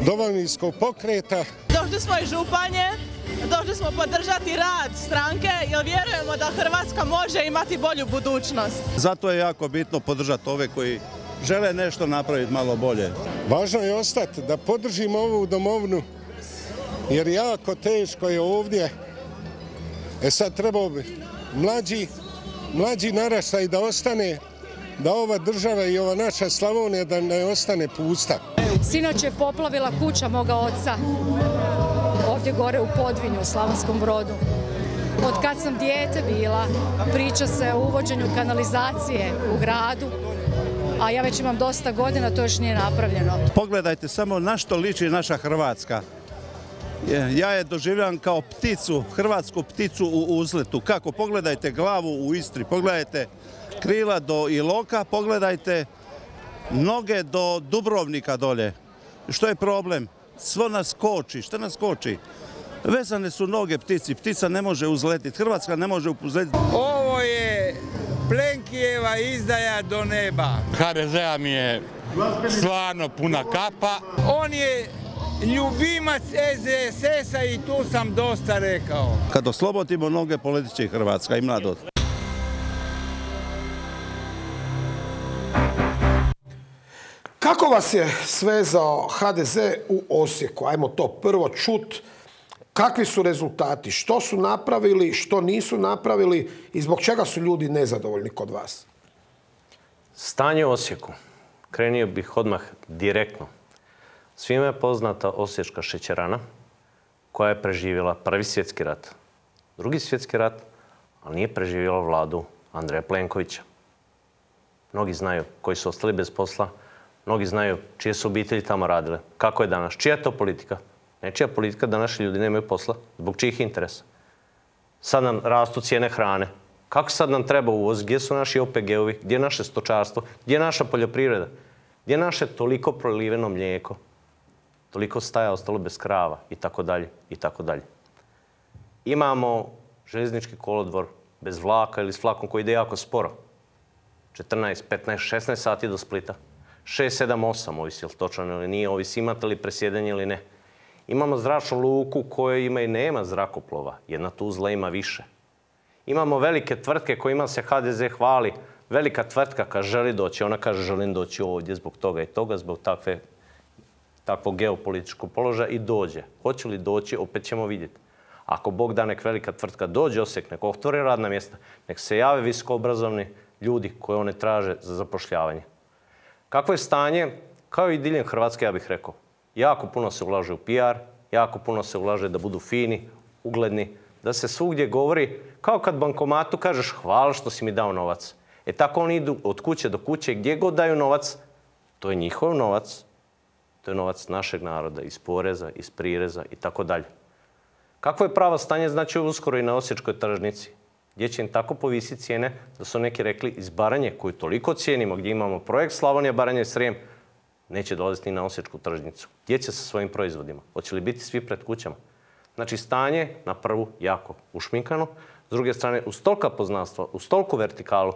Domovinskog pokreta. Došli smo iz Županje. Došli smo podržati rad stranke jer vjerujemo da Hrvatska može imati bolju budućnost. Zato je jako bitno podržati ove koji žele nešto napraviti malo bolje. Važno je ostati da podržimo ovu domovinu jer jako teško je ovdje. E sad trebao bi mlađi, mlađi naraštaj da ostane, da ova država i ova naša Slavonija da ne ostane pusta. Sinoć je poplavila kuća moga oca. Ovdje gore u Podvinju, u Slavonskom Brodu. Od kad sam dijete bila, priča se o uvođenju kanalizacije u gradu, a ja već imam dosta godina, to još nije napravljeno. Pogledajte samo na što liči naša Hrvatska. Ja je doživljavam kao pticu, hrvatsku pticu u uzletu. Kako? Pogledajte glavu u Istri, pogledajte krila do Iloka, pogledajte noge do Dubrovnika dolje. Što je problem? Svo nas koči. Šta nas koči? Vezane su noge ptici. Ptica ne može uzletiti. Hrvatska ne može uzletiti. Ovo je Plenkijeva izdaja do neba. ha de zea mi je stvarno puna kapa. On je ljubimac es de es es-a i tu sam dosta rekao. Kad oslobodimo noge, poletit će i Hrvatska i mladost. Kako vas je svezao ha de ze u Osijeku? Ajmo to prvo čut. Kakvi su rezultati? Što su napravili, što nisu napravili i zbog čega su ljudi nezadovoljni kod vas? Stanje u Osijeku. Krenio bih odmah direktno. Svima je poznata osječka šećerana koja je preživjela Prvi svjetski rat, Drugi svjetski rat, ali nije preživjela vladu Andreja Plenkovića. Mnogi znaju koji su ostali bez posla, mnogi znaju čije su obitelji tamo radile. Kako je danas? Čija je to politika? Nečija politika da naši ljudi nemaju posla. Zbog čijih interesa? Sad nam rastu cijene hrane. Kako sad nam treba uvoz? Gdje su naši O P G-ovi? Gdje je naše stočarstvo? Gdje je naša poljoprivreda? Gdje je naše toliko proliveno mlijeko? Toliko staja ostalo bez krava i tako dalje i tako dalje. Imamo željeznički kolodvor bez vlaka ili s vlakom koji ide jako sporo. četrnaest, petnaest, šesnaest sati do Splita. šest, sedam, osam, ovisi li točno ili nije, ovisi imate li presjedanje ili ne. Imamo zračnu luku koja ima i nema zrakoplova. Jedna Tuzla ima više. Imamo velike tvrtke kojima se H D Z hvali. Velika tvrtka kad želi doći, ona kaže želim doći ovdje zbog toga i toga, zbog takve, takvog geopolitičkog položaja i dođe. Hoće li doći, opet ćemo vidjeti. Ako Bog da nek velika tvrtka dođe Osijek, nek otvore radna mjesta, nek se jave visokoobrazovni ljudi koje one traže za zapošljavanje. Kakvo je stanje? Kao i diljem Hrvatske, ja bih rekao. Jako puno se ulaže u P R, jako puno se ulaže da budu fini, ugledni, da se svugdje govori, kao kad bankomatu kažeš hvala što si mi dao novac. E tako oni idu od kuće do kuće, gdje god daju novac, to je njihov novac, to je novac našeg naroda, iz poreza, iz prireza i tako dalje. Kakvo je pravo stanje, znači uskoro i na osječkoj tržnici, gdje će im tako povisiti cijene da su neki rekli iz Baranje, koju toliko cijenimo, gdje imamo projekt Slavonija, Baranja i Srijem, neće dolaziti ni na osječku tržnicu. Gdje će sa svojim proizvodima? Hoće li biti svi pred kućama? Znači, stanje na prvu jako ušminkano. S druge strane, uz tolika poznanstva, uz toliku vertikalu,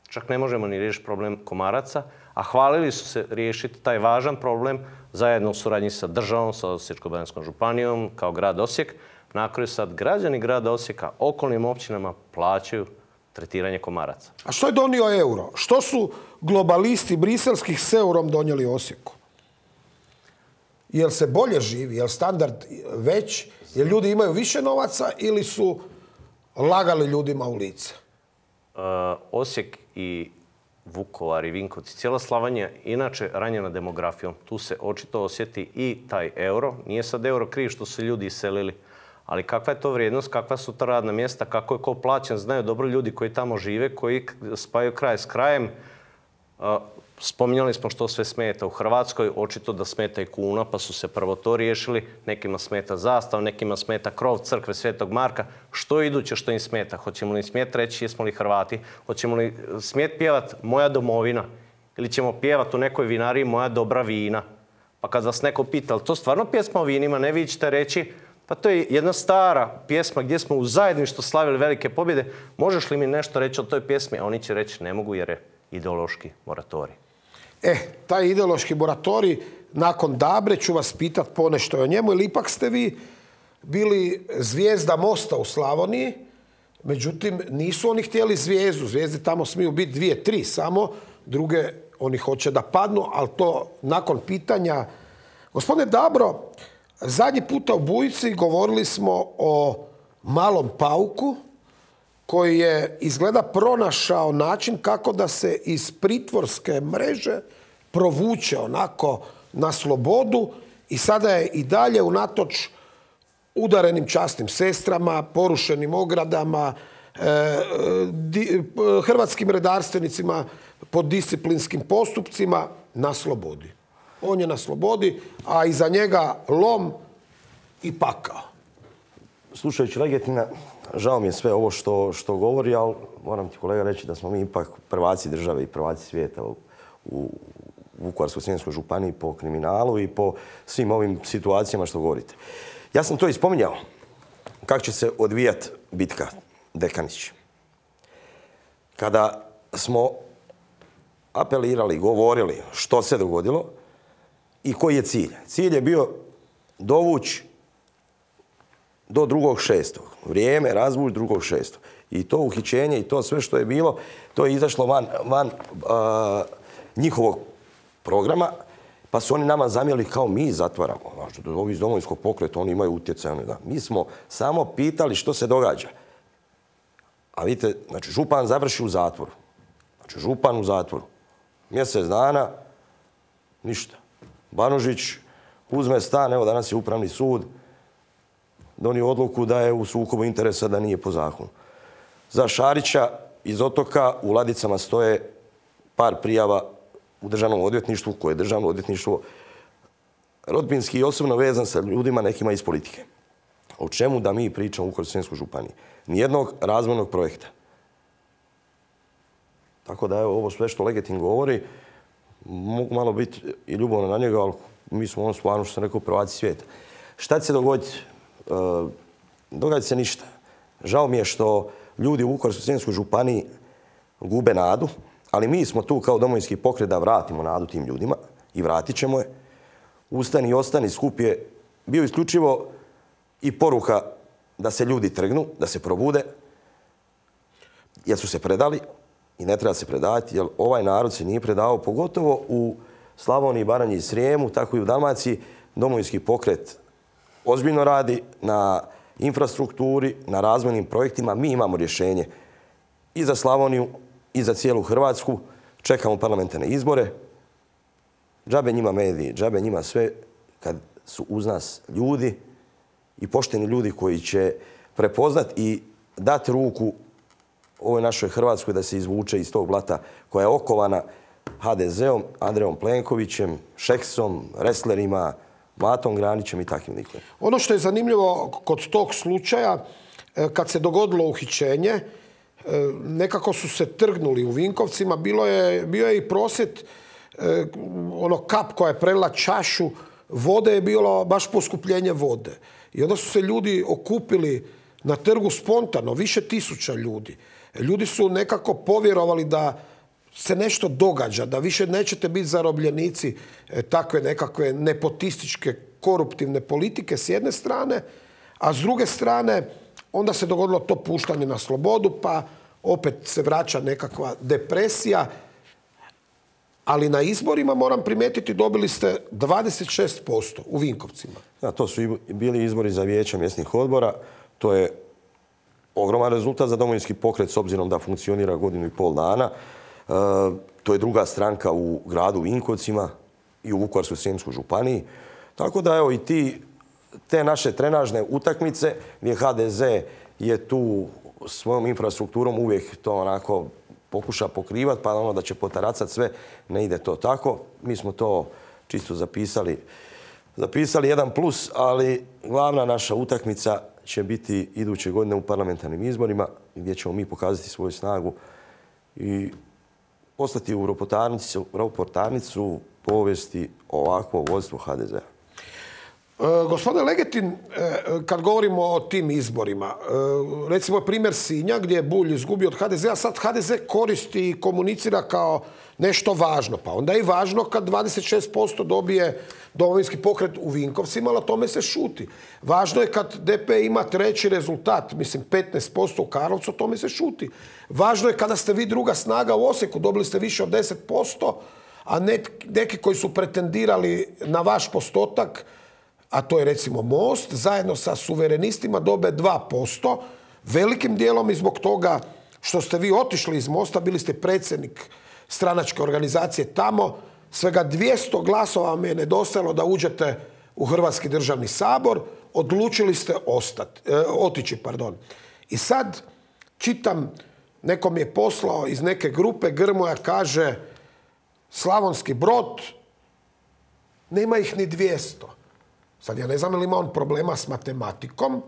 čak ne možemo ni riješiti problem komaraca, a hvalili su se riješiti taj važan problem zajedno u suradnji sa državom, sa Osječko-baranjskom županijom, kao grad Osijek. Na kraju sad građani grada Osijeka, okolnim općinama plaćaju tretiranje komaraca. A što je donio euro? Što su globalisti briselskih s eurom donijeli Osijeku? Jel se bolje živi? Jel standard već? Jel ljudi imaju više novaca ili su lagali ljudima u lice? Uh, Osijek i Vukovar i Vinkovci, cijela Slavonija inače ranjena demografijom. Tu se očito osjeti i taj euro. Nije sad euro kriv što su ljudi iselili, ali kakva je to vrijednost, kakva su ta radna mjesta, kako je ko plaćen, znaju dobro ljudi koji tamo žive, koji spajaju kraj s krajem. Uh, Spominjali smo što sve smeta u Hrvatskoj, očito da smeta i kuna, pa su se prvo to riješili. Nekima smeta zastav, nekima smeta krov crkve Svetog Marka. Što je iduće što im smeta? Hoćemo li smjeti reći jesmo li Hrvati? Hoćemo li smjeti pjevat Moja domovina? Ili ćemo pjevat u nekoj vinariji Moja dobra vina? Pa kad vas neko pita, ali to stvarno pjesma o vinima, ne vi ćete reći, pa to je jedna stara pjesma gdje smo u zajedništvu slavili velike pobjede. Možeš li mi nešto reći o toj pjesmi? A oni će reći ne mogu jer je ideološki moratorij. E, taj ideološki moratorij, nakon Dabre ću vas pitat ponešto o njemu, ili ipak ste vi bili zvijezda Mosta u Slavoniji, međutim nisu oni htjeli zvijezdu, zvijezde tamo smiju biti dvije, tri samo, druge oni hoće da padnu, ali to nakon pitanja. Gospodine Dabro, zadnji puta u Bujici govorili smo o malom pauku, koji je izgleda pronašao način kako da se iz pritvorske mreže provuče onako na slobodu i sada je i dalje unatoč udarenim časnim sestrama, porušenim ogradama, eh, di, hrvatskim redarstvenicima pod disciplinskim postupcima na slobodi. On je na slobodi, a iza njega lom i pakao. Slušajući Legetina, žao mi je sve ovo što, što govori, ali moram ti kolega reći da smo mi ipak prvaci države i prvaci svijeta u, u Vukovarsko-srijemskoj županiji po kriminalu i po svim ovim situacijama što govorite. Ja sam to i spominjao. Kako će se odvijati bitka Dekanić. Kada smo apelirali, govorili što se dogodilo i koji je cilj. Cilj je bio dovući do drugog šestog. Vrijeme razvući drugog šestog. I to uhićenje i to sve što je bilo, to je izašlo van, van uh, njihovog programa, pa su oni nama zamjeli kao mi zatvaramo. Znači, ovi iz Domovinskog pokreta, oni imaju utjecaj. Da. Mi smo samo pitali što se događa. A vidite, znači, župan završi u zatvoru. Znači, župan u zatvoru. Mjesec dana, ništa. Banožić uzme stan, evo danas je upravni sud, donio odluku da je u sukobu interesa, da nije po zakonu. Za Šarića iz Otoka u ladicama stoje par prijava u državnom odvjetništvu, koje je državno odvjetništvo rodbinski i osobno vezan sa ljudima nekima iz politike. O čemu da mi pričamo u Vukovarsko-srijemskoj županiji? Nijednog razvojnog projekta. Tako da evo, ovo sve što Legetin govori, mogu malo biti i ljubavno na njega, ali mi smo ono stvarno, što sam rekao, prvaci svijeta. Šta će se dogoditi? E, događa se ništa. Žao mi je što ljudi u Vukovarsko-srijemskoj županiji gube nadu, ali mi smo tu kao Domovinski pokret da vratimo nadu tim ljudima i vratit ćemo je. Ustani i ostani skup je bio isključivo i poruka da se ljudi trgnu, da se probude, jer su se predali i ne treba se predavati, jer ovaj narod se nije predavao, pogotovo u Slavoniji, Baranji i Srijemu, tako i u Dalmaciji. Domovinski pokret ozbiljno radi na infrastrukturi, na razvojnim projektima. Mi imamo rješenje i za Slavoniju i za cijelu Hrvatsku. Čekamo parlamentarne izbore. Džabe njima mediji, džabe njima sve, kad su uz nas ljudi i pošteni ljudi koji će prepoznat i dati ruku ovoj našoj Hrvatskoj da se izvuče iz tog blata koja je okovana ha de zeom, Andrejom Plenkovićem, Šeksom, wrestlerima, Matom Granićem i takvim likovima. Ono što je zanimljivo kod tog slučaja, kad se dogodilo uhićenje, nekako su se trgnuli u Vinkovcima. Bilo je, bio je i prosvjed, ono kap koja je prelila čašu vode je bilo baš poskupljenje vode. I onda su se ljudi okupili na trgu spontano, više tisuća ljudi. Ljudi su nekako povjerovali da se nešto događa, da više nećete biti zarobljenici takve nekakve nepotističke, koruptivne politike s jedne strane, a s druge strane onda se dogodilo to puštanje na slobodu, pa opet se vraća nekakva depresija. Ali na izborima, moram primijetiti, dobili ste dvadeset šest posto u Vinkovcima. Da, to su bili izbori za vijeća mjesnih odbora. To je ogroman rezultat za Domovinski pokret s obzirom da funkcionira godinu i pol dana. E, to je druga stranka u gradu Vinkovcima i u Vukovarsko-srijemskoj županiji. Tako da evo i ti, te naše trenažne utakmice gdje ha de ze je tu svojom infrastrukturom uvijek to onako pokuša pokrivati, pa ono da će potaracati sve, ne ide to tako. Mi smo to čisto zapisali. Zapisali jedan plus, ali glavna naša utakmica će biti iduće godine u parlamentarnim izborima, gdje ćemo mi pokazati svoju snagu i poslati u ropotarnicu povijesti ovakvo vodstvo ha de zea. E, gospodine Legetin, e, kad govorimo o tim izborima, e, recimo primjer Sinja gdje je Bulj izgubio od ha de zea, sad ha de ze koristi i komunicira kao nešto važno. Pa onda je i važno kad dvadeset šest posto dobije Domovinski pokret u Vinkovcima, ali o tome se šuti. Važno je kad de pe ima treći rezultat, mislim petnaest posto u Karlovcu, o tome se šuti. Važno je kada ste vi druga snaga u Osijeku, dobili ste više od deset posto, a neki koji su pretendirali na vaš postotak, a to je recimo Most, zajedno sa suverenistima dobe dva posto, velikim dijelom i zbog toga što ste vi otišli iz Mosta, bili ste predsjednik stranačke organizacije tamo, svega dvjesto glasova vam je nedostajalo da uđete u Hrvatski državni sabor, odlučili ste ostati, e, otići. Pardon. I sad čitam, nekom je poslao iz neke grupe, Grmoja kaže Slavonski Brod, nema ih ni dvjesto. Sad ja ne znam ili ima on problema s matematikom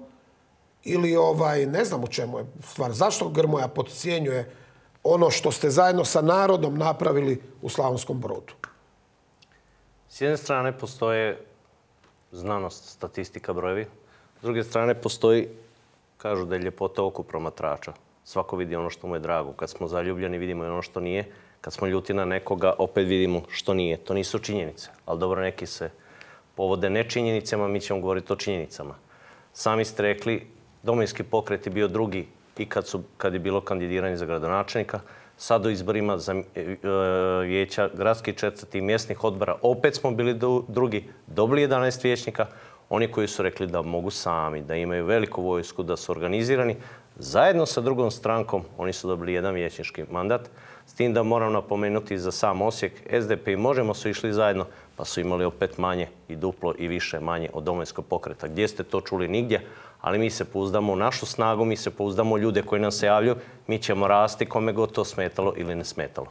ili ovaj, ne znam u čemu je stvar. Zašto Grmoja podcjenjuje ono što ste zajedno sa narodom napravili u Slavonskom Brodu? S jedne strane postoje znanost, statistika, brojevi. S druge strane postoji, kažu da je ljepota oko promatrača. Svako vidi ono što mu je drago. Kad smo zaljubljeni vidimo i ono što nije. Kad smo ljuti na nekoga opet vidimo što nije. To nisu činjenice. Ali dobro, neki se povode ne činjenicama, mi ćemo govoriti o činjenicama. Sami ste rekli, Domovinski pokret je bio drugi i kad, su, kad je bilo kandidiranje za gradonačelnika. Sad u izborima za vijeća gradskih četvrti i mjesnih odbora opet smo bili drugi, dobili jedanaest vijećnika. Oni koji su rekli da mogu sami, da imaju veliku vojsku, da su organizirani, zajedno sa drugom strankom oni su dobili jedan vijećnički mandat. S tim da moram napomenuti za sam Osijek, es de pe i Možemo su išli zajedno, pa su imali opet manje i duplo i više manje od Domovinskog pokreta. Gdje ste to čuli? Nigdje. ali mi se pouzdamo u našu snagu, mi se pouzdamo u ljude koji nam se javljaju, mi ćemo rasti kome god to smetalo ili ne smetalo.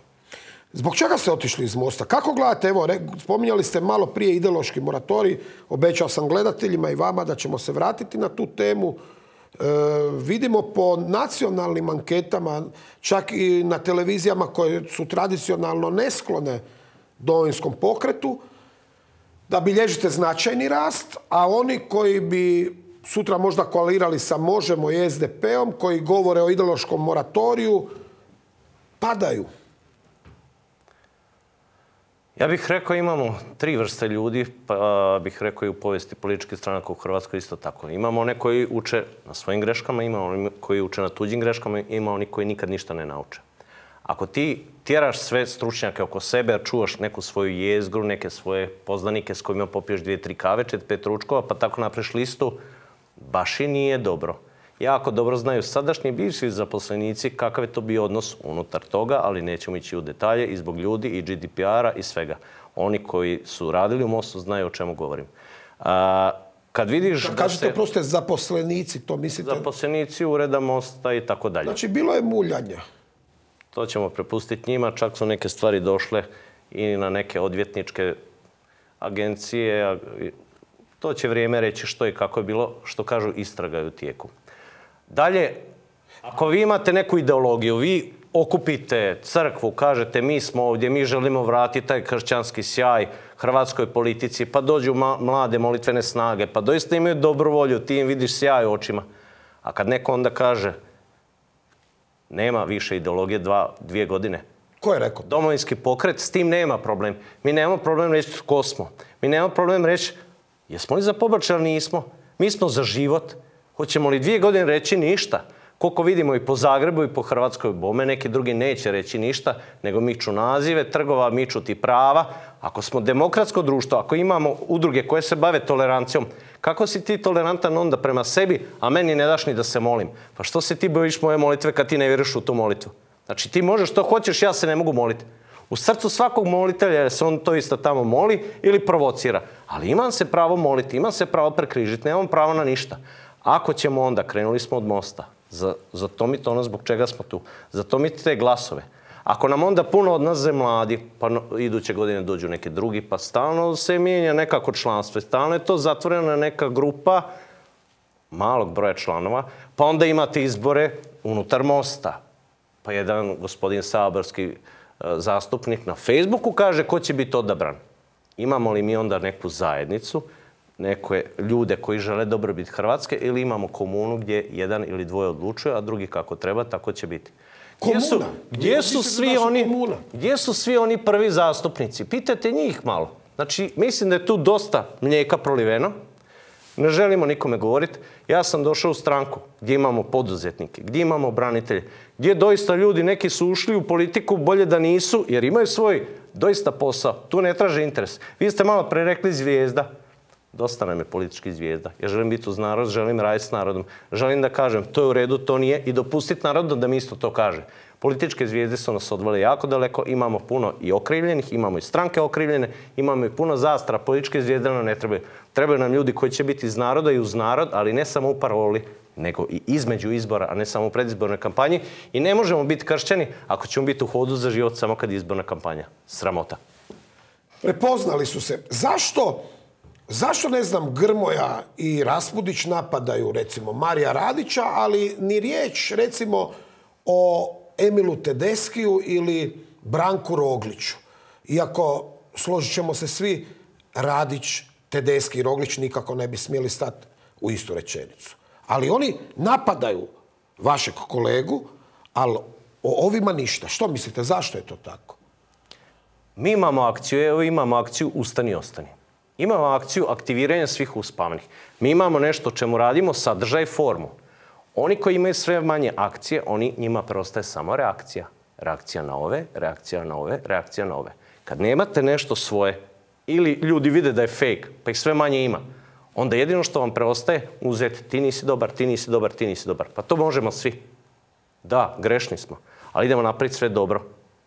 Zbog čega ste otišli iz Mosta? Kako gledate, evo, spominjali ste malo prije ideološki moratorij, obećao sam gledateljima i vama da ćemo se vratiti na tu temu. E, vidimo po nacionalnim anketama, čak i na televizijama koje su tradicionalno nesklone Domovinskom pokretu, da bilježite značajni rast, a oni koji bi sutra možda koalirali sa Možemo i S D P-om, koji govore o ideološkom moratoriju, padaju. Ja bih rekao imamo tri vrste ljudi, pa bih rekao i u povijesti političkih stranaka u Hrvatskoj isto tako. Imamo one koji uče na svojim greškama, imamo oni koji uče na tuđim greškama, ima oni koji nikad ništa ne nauče. Ako ti tjeraš sve stručnjake oko sebe, a čuvaš neku svoju jezgru, neke svoje poznanike s kojima popiješ dvije, tri kave, čet, pet ručkova, pa tako napraviš listu, baš i nije dobro. Jako dobro znaju sadašnji i bivši zaposlenici kakav je to bio odnos unutar toga, ali nećemo ići u detalje i zbog ljudi i G D P R-a i svega. Oni koji su radili u Mostu znaju o čemu govorim. A, kad vidiš Kad kažete, se... proste, zaposlenici, to mislite? Zaposlenici ureda Mosta i tako dalje. Znači, bilo je muljanja. To ćemo prepustiti njima. Čak su neke stvari došle i na neke odvjetničke agencije. To će vrijeme reći što i kako je bilo, što kažu istraga je u tijeku. Dalje, ako vi imate neku ideologiju, vi okupite crkvu, kažete mi smo ovdje, mi želimo vratiti taj kršćanski sjaj hrvatskoj politici, pa dođu mlade molitvene snage, pa doista imaju dobru volju, ti im vidiš sjaj u očima. A kad neko onda kaže nema više ideologije dva, dvije godine. Ko je rekao? Domovinski pokret, s tim nema problem. Mi nemamo problem reći tko smo. Mi nemamo problem reći jesmo li za pobačaj ili nismo. Mi smo za život. Hoćemo li dvije godine reći ništa? Koliko vidimo i po Zagrebu i po Hrvatskoj bome, neki drugi neće reći ništa, nego miču nazive trgova, miču ti prava. Ako smo demokratsko društvo, ako imamo udruge koje se bave tolerancijom, kako si ti tolerantan onda prema sebi, a meni ne daš ni da se molim? Pa što se ti bojiš moje molitve kad ti ne vjeruješ u tu molitvu? Znači ti možeš što hoćeš, ja se ne mogu moliti. U srcu svakog molitelja se on to isto tamo moli ili provocira. Ali imam se pravo moliti, imam se pravo prekrižiti, nemam pravo na ništa. Ako ćemo onda, krenuli smo od Mosta, za, za to mi to ono zbog čega smo tu, za to mi te glasove. Ako nam onda puno odlaze mladi, pa no, iduće godine dođu neki drugi, pa stalno se mijenja nekako članstvo, stalno je to zatvorena neka grupa malog broja članova, pa onda imate izbore unutar Mosta. Pa jedan gospodin saborski e, zastupnik na Facebooku kaže ko će biti odabran. Imamo li mi onda neku zajednicu, neke ljude koji žele dobrobit Hrvatske ili imamo komunu gdje jedan ili dvoje odlučuje, a drugi kako treba, tako će biti. Gdje su, gdje su svi oni, gdje su svi oni prvi zastupnici? Pitajte njih malo. Znači, mislim da je tu dosta mlijeka proliveno. Ne želimo nikome govoriti. Ja sam došao u stranku gdje imamo poduzetnike, gdje imamo branitelje, gdje doista ljudi, neki su ušli u politiku, bolje da nisu, jer imaju svoj doista posao. Tu ne traže interes. Vi ste malo pre rekli zvijezda. Dosta nam je politički zvijezda. Ja želim biti uz narod, želim raditi s narodom. Želim da kažem to je u redu, to nije i dopustiti narodu da mi isto to kaže. Političke zvijezde su nas odvele jako daleko, imamo puno i okrivljenih, imamo i stranke okrivljene, imamo i puno zastara, političke zvijezde nam ne trebaju. Trebaju nam ljudi koji će biti iz naroda i uz narod, ali ne samo u paroli, nego i između izbora, a ne samo u predizbornoj kampanji. I ne možemo biti kršćani ako ćemo biti u hodu za život samo kad je izborna kampanja. Sramota. Prepoznali su se. Zašto? Zašto, ne znam, Grmoja i Raspudić napadaju, recimo, Marija Radića, ali ni riječ, recimo, o Emilu Tedeskiju ili Branku Rogliću? Iako, složit ćemo se svi, Radić, Tedeski i Roglić nikako ne bi smjeli stati u istu rečenicu. Ali oni napadaju vašeg kolegu, ali o ovima ništa. Što mislite, zašto je to tako? Mi imamo akciju, evo imamo akciju Ustani, ostani. Imamo akciju aktiviranja svih uspavnih. Mi imamo nešto o čemu radimo, sadržaj i formu. Oni koji imaju sve manje akcije, oni njima preostaje samo reakcija. Reakcija na ove, reakcija na ove, reakcija na ove. Kad nemate nešto svoje, ili ljudi vide da je fake, pa ih sve manje ima, onda jedino što vam preostaje uzeti ti nisi dobar, ti nisi dobar, ti nisi dobar. Pa to možemo svi. Da, grešni smo, ali idemo napraviti sve dobro.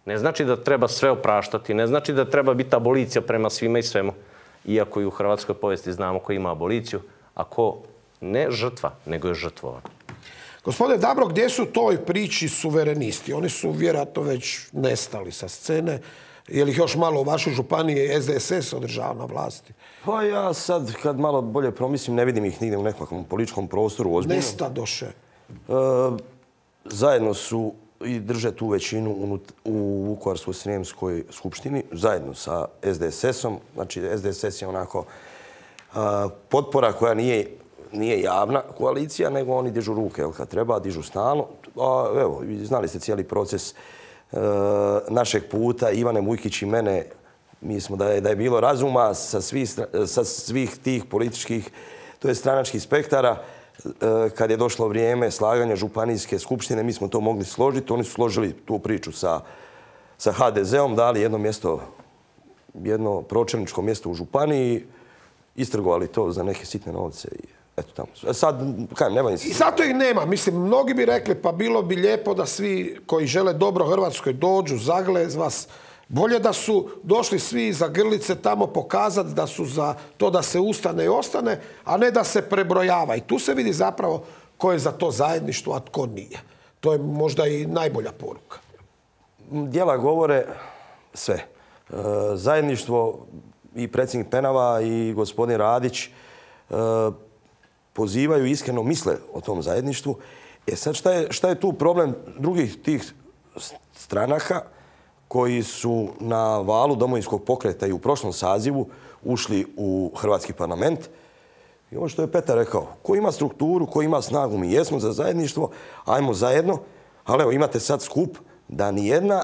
Ne znači da treba sve opraštati, ne znači da treba biti abolicija prema svima i svemu. Iako i u hrvatskoj povijesti znamo ko ima aboliciju, a ko Ne žrtva, nego je žrtvovan. Gospodine Dabro, gdje su toj priči suverenisti? Oni su vjerojatno već nestali sa scene. Je li ih još malo u vašoj županiji S D S S održava na vlasti? Pa ja sad, kad malo bolje promislim, ne vidim ih nigdje u nekakvom političkom prostoru ozbiljno. Nestadoše. E, zajedno su i drže tu većinu unut, u Vukovarsko-srijemskoj skupštini, zajedno sa S D S S-om. Znači, S D S S je onako a, potpora koja nije, nije javna koalicija, nego oni dižu ruke, jel, kad treba, dižu stalno. A, evo, znali ste cijeli proces e, našeg puta, Ivane Mujkić i mene. Mi smo da je, da je bilo razuma sa svih, sa svih tih političkih, to je stranačkih spektara. Kad je došlo vrijeme slaganja županijske skupštine, mi smo to mogli složiti. Oni su složili tu priču sa, sa H D Z-om, dali jedno mjesto, jedno pročelničko mjesto u županiji, istrgovali to za neke sitne novce i eto tamo. Sad, kajem, nema ni... I zato ih nema. Mislim, mnogi bi rekli, pa bilo bi lijepo da svi koji žele dobro Hrvatskoj dođu, zagle vas. Bolje da su došli svi za grlice tamo pokazati da su za to da se ustane i ostane, a ne da se prebrojava. I tu se vidi zapravo ko je za to zajedništvo, a tko nije. To je možda i najbolja poruka. Djela govore sve. E, zajedništvo i predsjednik Penava i gospodin Radić e, pozivaju, iskreno misle o tom zajedništvu. E sad šta je, šta je tu problem drugih tih stranaka koji su na valu Domovinskog pokreta i u prošlom sazivu ušli u Hrvatski parlament? I ovo što je Petar rekao, ko ima strukturu, ko ima snagu, mi jesmo za zajedništvo, ajmo zajedno, ali evo imate sad skup da nijedna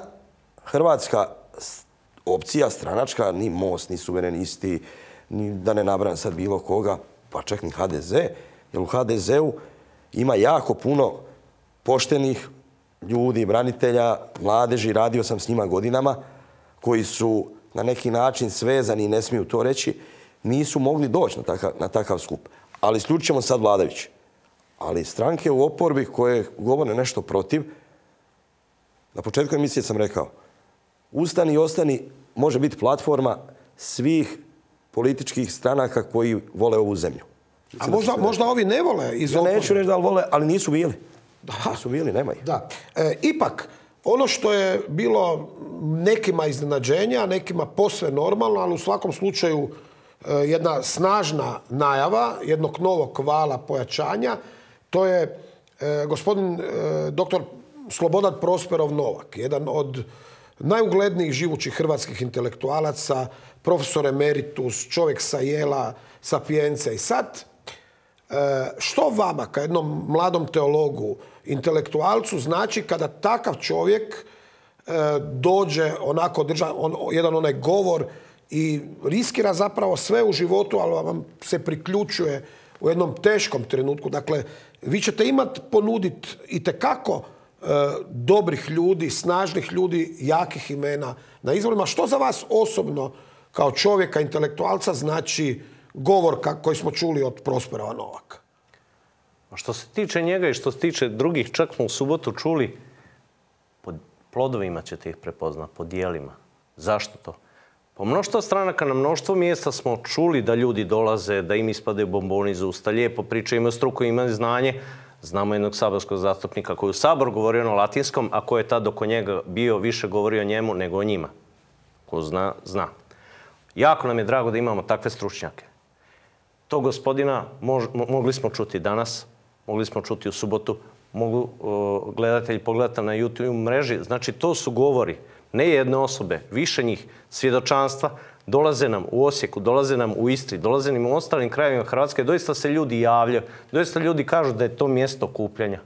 hrvatska opcija stranačka, ni Most, ni suverenisti, ni da ne nabrajam sad bilo koga, pa čak ni H D Z, jer u H D Z-u ima jako puno poštenih ljudi, branitelja, mladeži, radio sam s njima godinama, koji su na neki način svezani i ne smiju to reći, nisu mogli doći na takav, na takav skup. Ali isključimo sad vladajući. Ali stranke u oporbi koje govore nešto protiv, na početku emisije sam rekao, Ustani i ostani može biti platforma svih političkih stranaka koji vole ovu zemlju. A možda, možda ovi ne vole iz oporbe? Ja neću reći da li vole, ali nisu bili. Da. Nisu bili, nema ih. Da. E, ipak, ono što je bilo nekima iznenađenja, nekima posve normalno, ali u svakom slučaju e, jedna snažna najava jednog novog vala pojačanja, to je e, gospodin e, doktor Slobodan Prosperov Novak, jedan od najuglednijih živućih hrvatskih intelektualaca, profesor emeritus, čovjek sa Jela, Sapience. I sad, što vama, kao jednom mladom teologu, intelektualcu, znači kada takav čovjek dođe onako, drža on, jedan onaj govor i riskira zapravo sve u životu, ali vam se priključuje u jednom teškom trenutku. Dakle, vi ćete imati ponuditi itekako e, dobrih ljudi, snažnih ljudi, jakih imena na izborima. Što za vas osobno, kao čovjeka, intelektualca, znači govor koji smo čuli od Prosperova Novaka? Što se tiče njega i što se tiče drugih, čak smo u subotu čuli, po plodovima ćete ih prepoznati, po dijelima. Zašto to? Po mnoštvo stranaka na mnoštvo mjesta smo čuli da ljudi dolaze, da im ispadaju bomboni iz usta, lijepo pričaju, imaju struku, imaju znanje. Znamo jednog saborskog zastupnika koji u Sabor govorio na latinskom, a ko je tad oko njega bio, više govorio o njemu nego o njima. Ko zna, zna. Jako nam je drago da imamo takve stručnjake. To gospodina mož, mogli smo čuti danas, mogli smo čuti u subotu, mogu uh, gledatelji pogledati na YouTube mreži. Znači, to su govori, ne jedne osobe, više njih, svjedočanstva, dolaze nam u Osijeku, dolaze nam u Istri, dolaze nam u ostalim krajevima Hrvatske, doista se ljudi javljaju, doista ljudi kažu da je to mjesto okupljanja.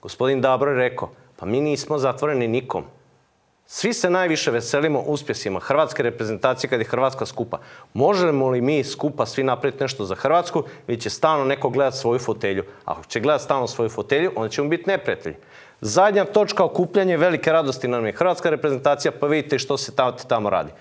Gospodin Dabro je rekao, pa mi nismo zatvoreni nikom. Svi se najviše veselimo uspjesima hrvatske reprezentacije kad je Hrvatska skupa. Možemo li mi skupa svi napraviti nešto za Hrvatsku ili će stalno neko gledati svoju fotelju? Ako će gledati stalno svoju fotelju, onda ćemo biti neprijatelji. Zadnja točka okupljanja velike radosti nam je Hrvatska reprezentacija, pa vidite što se tamo radi.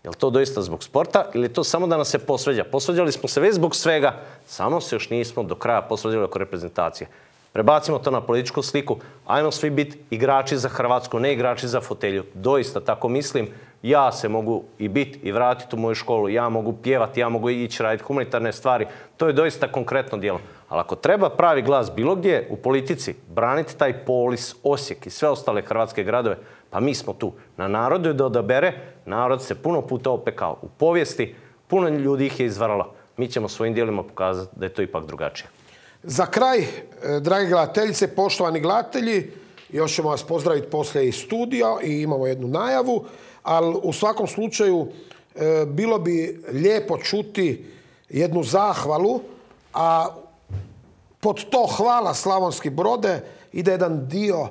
Je li to doista zbog sporta ili je to samo da nas se posveđa? Posveđali smo se već zbog svega, samo se još nismo do kraja posveđali oko reprezentacije. Prebacimo to na političku sliku, ajmo svi biti igrači za Hrvatsku, ne igrači za fotelju. Doista, tako mislim, Ja se mogu i biti i vratiti u moju školu, ja mogu pjevati, ja mogu ići raditi humanitarne stvari. To je doista konkretno djelo. Ali ako treba pravi glas bilo gdje u politici, braniti taj Polis, Osijek i sve ostale hrvatske gradove, pa mi smo tu. Na narodu je da odabere, narod se puno puta opekao. U povijesti puno ljudi ih je izvaralo. Mi ćemo svojim djelima pokazati da je to ipak drugačije. Za kraj, dragi gledateljice, poštovani gledatelji, još ćemo vas pozdraviti poslije iz studija i imamo jednu najavu, ali u svakom slučaju bilo bi lijepo čuti jednu zahvalu, a pod to hvala Slavonski Brode ide jedan dio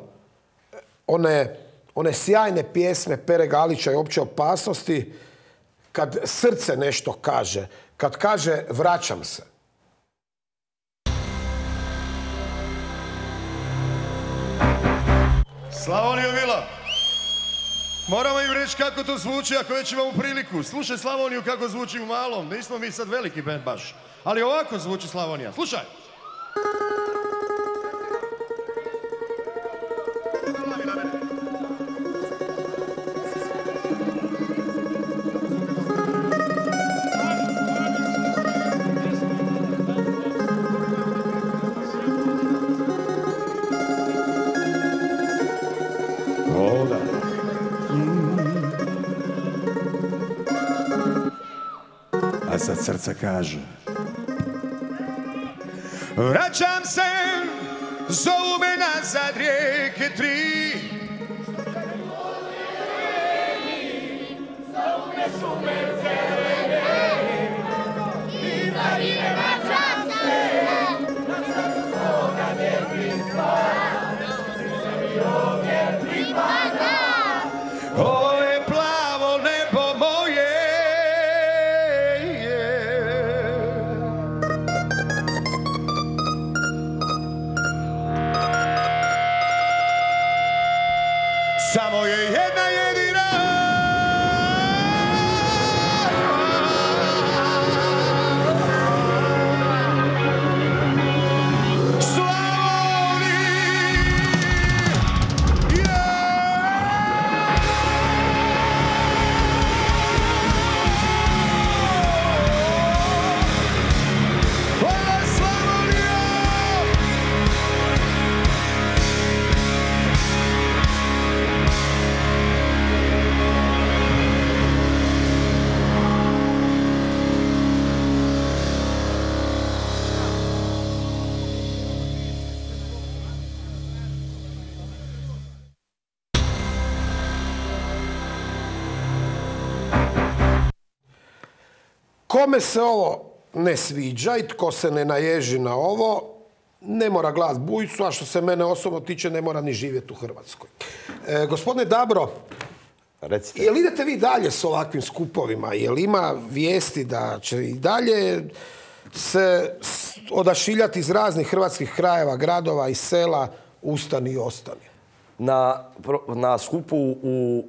one, one sjajne pjesme Pere Galića i Opće opasnosti, kad srce nešto kaže, kad kaže vraćam se. Slavoniju Vila, moramo im reći kako to zvuči ako već imamo priliku. Slušaj Slavoniju kako zvuči u malom, nismo mi sad veliki band baš, ali ovako zvuči Slavonija. Slušaj! A sad srce kaže: vraćam se, zovu me nazad rijeke tri. Zovu me šume zelene, i za rine vraćam se, na srcu svoga djetinjstva, se mi ovdje pripada. Ovo je plavo nebo moje. Samo je jedna jedina Kome se ovo ne sviđa i tko se ne naježi na ovo, ne mora glas bujicu, a što se mene osobno tiče, ne mora ni živjeti u Hrvatskoj. E, gospodine Dabro, recite, jel idete vi dalje s ovakvim skupovima? Jel ima vijesti da će i dalje se odašiljati iz raznih hrvatskih krajeva, gradova i sela ustani i ostani? Na, na skupu u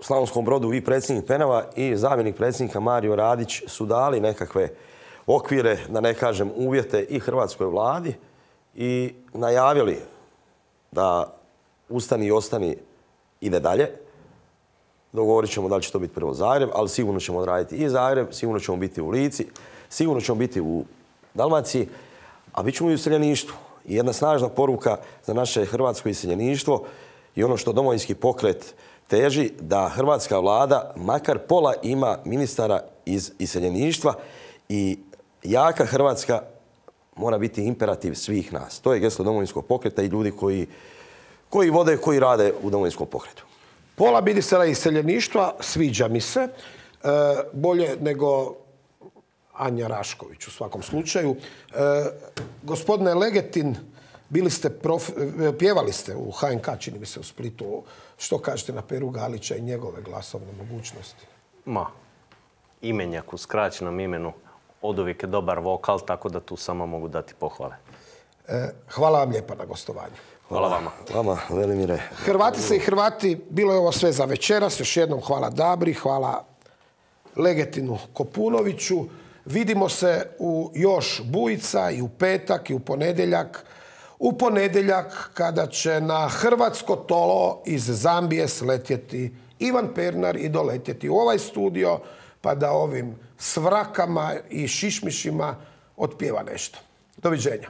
Slavonskom Brodu i predsjednik Penava i zamjenik predsjednika Mario Radić su dali nekakve okvire, da ne kažem uvjete, i hrvatskoj vladi i najavili da ustani i ostani ide dalje. Dogovorit ćemo da li će to biti prvo Zagreb, ali sigurno ćemo odraditi i Zagreb, sigurno ćemo biti u Lici, sigurno ćemo biti u Dalmaciji, a bit ćemo i u iseljeništvu. I jedna snažna poruka za naše hrvatsko iseljeništvo i ono što Domovinski pokret teži, da hrvatska vlada makar pola ima ministara iz iseljeništva i jaka Hrvatska mora biti imperativ svih nas. To je geslo Domovinskog pokreta i ljudi koji, koji vode, koji rade u Domovinskom pokretu. Pola ministara iseljeništva, sviđa mi se, e, bolje nego Anja Rašković u svakom slučaju. E, gospodine Legetin, bili ste prof, pjevali ste u H N K, čini mi se, u Splitu. Što kažete na Peru Galića i njegove glasovne mogućnosti? Ma, imenjak u skraćenom imenu oduvijek je dobar vokal, tako da tu samo mogu dati pohvale. E, hvala vam lijepa na gostovanju. Hvala vama. Vama, Velimire. Hrvatice i Hrvati, bilo je ovo sve za večeras. Još jednom hvala Dabri, hvala Legetinu Kopunoviću. Vidimo se u još Bujica i u petak i u ponedjeljak u ponedjeljak kada će na hrvatsko tolo iz Zambije sletjeti Ivan Pernar i doletjeti u ovaj studio pa da ovim svrakama i šišmišima otpjeva nešto. Doviđenja.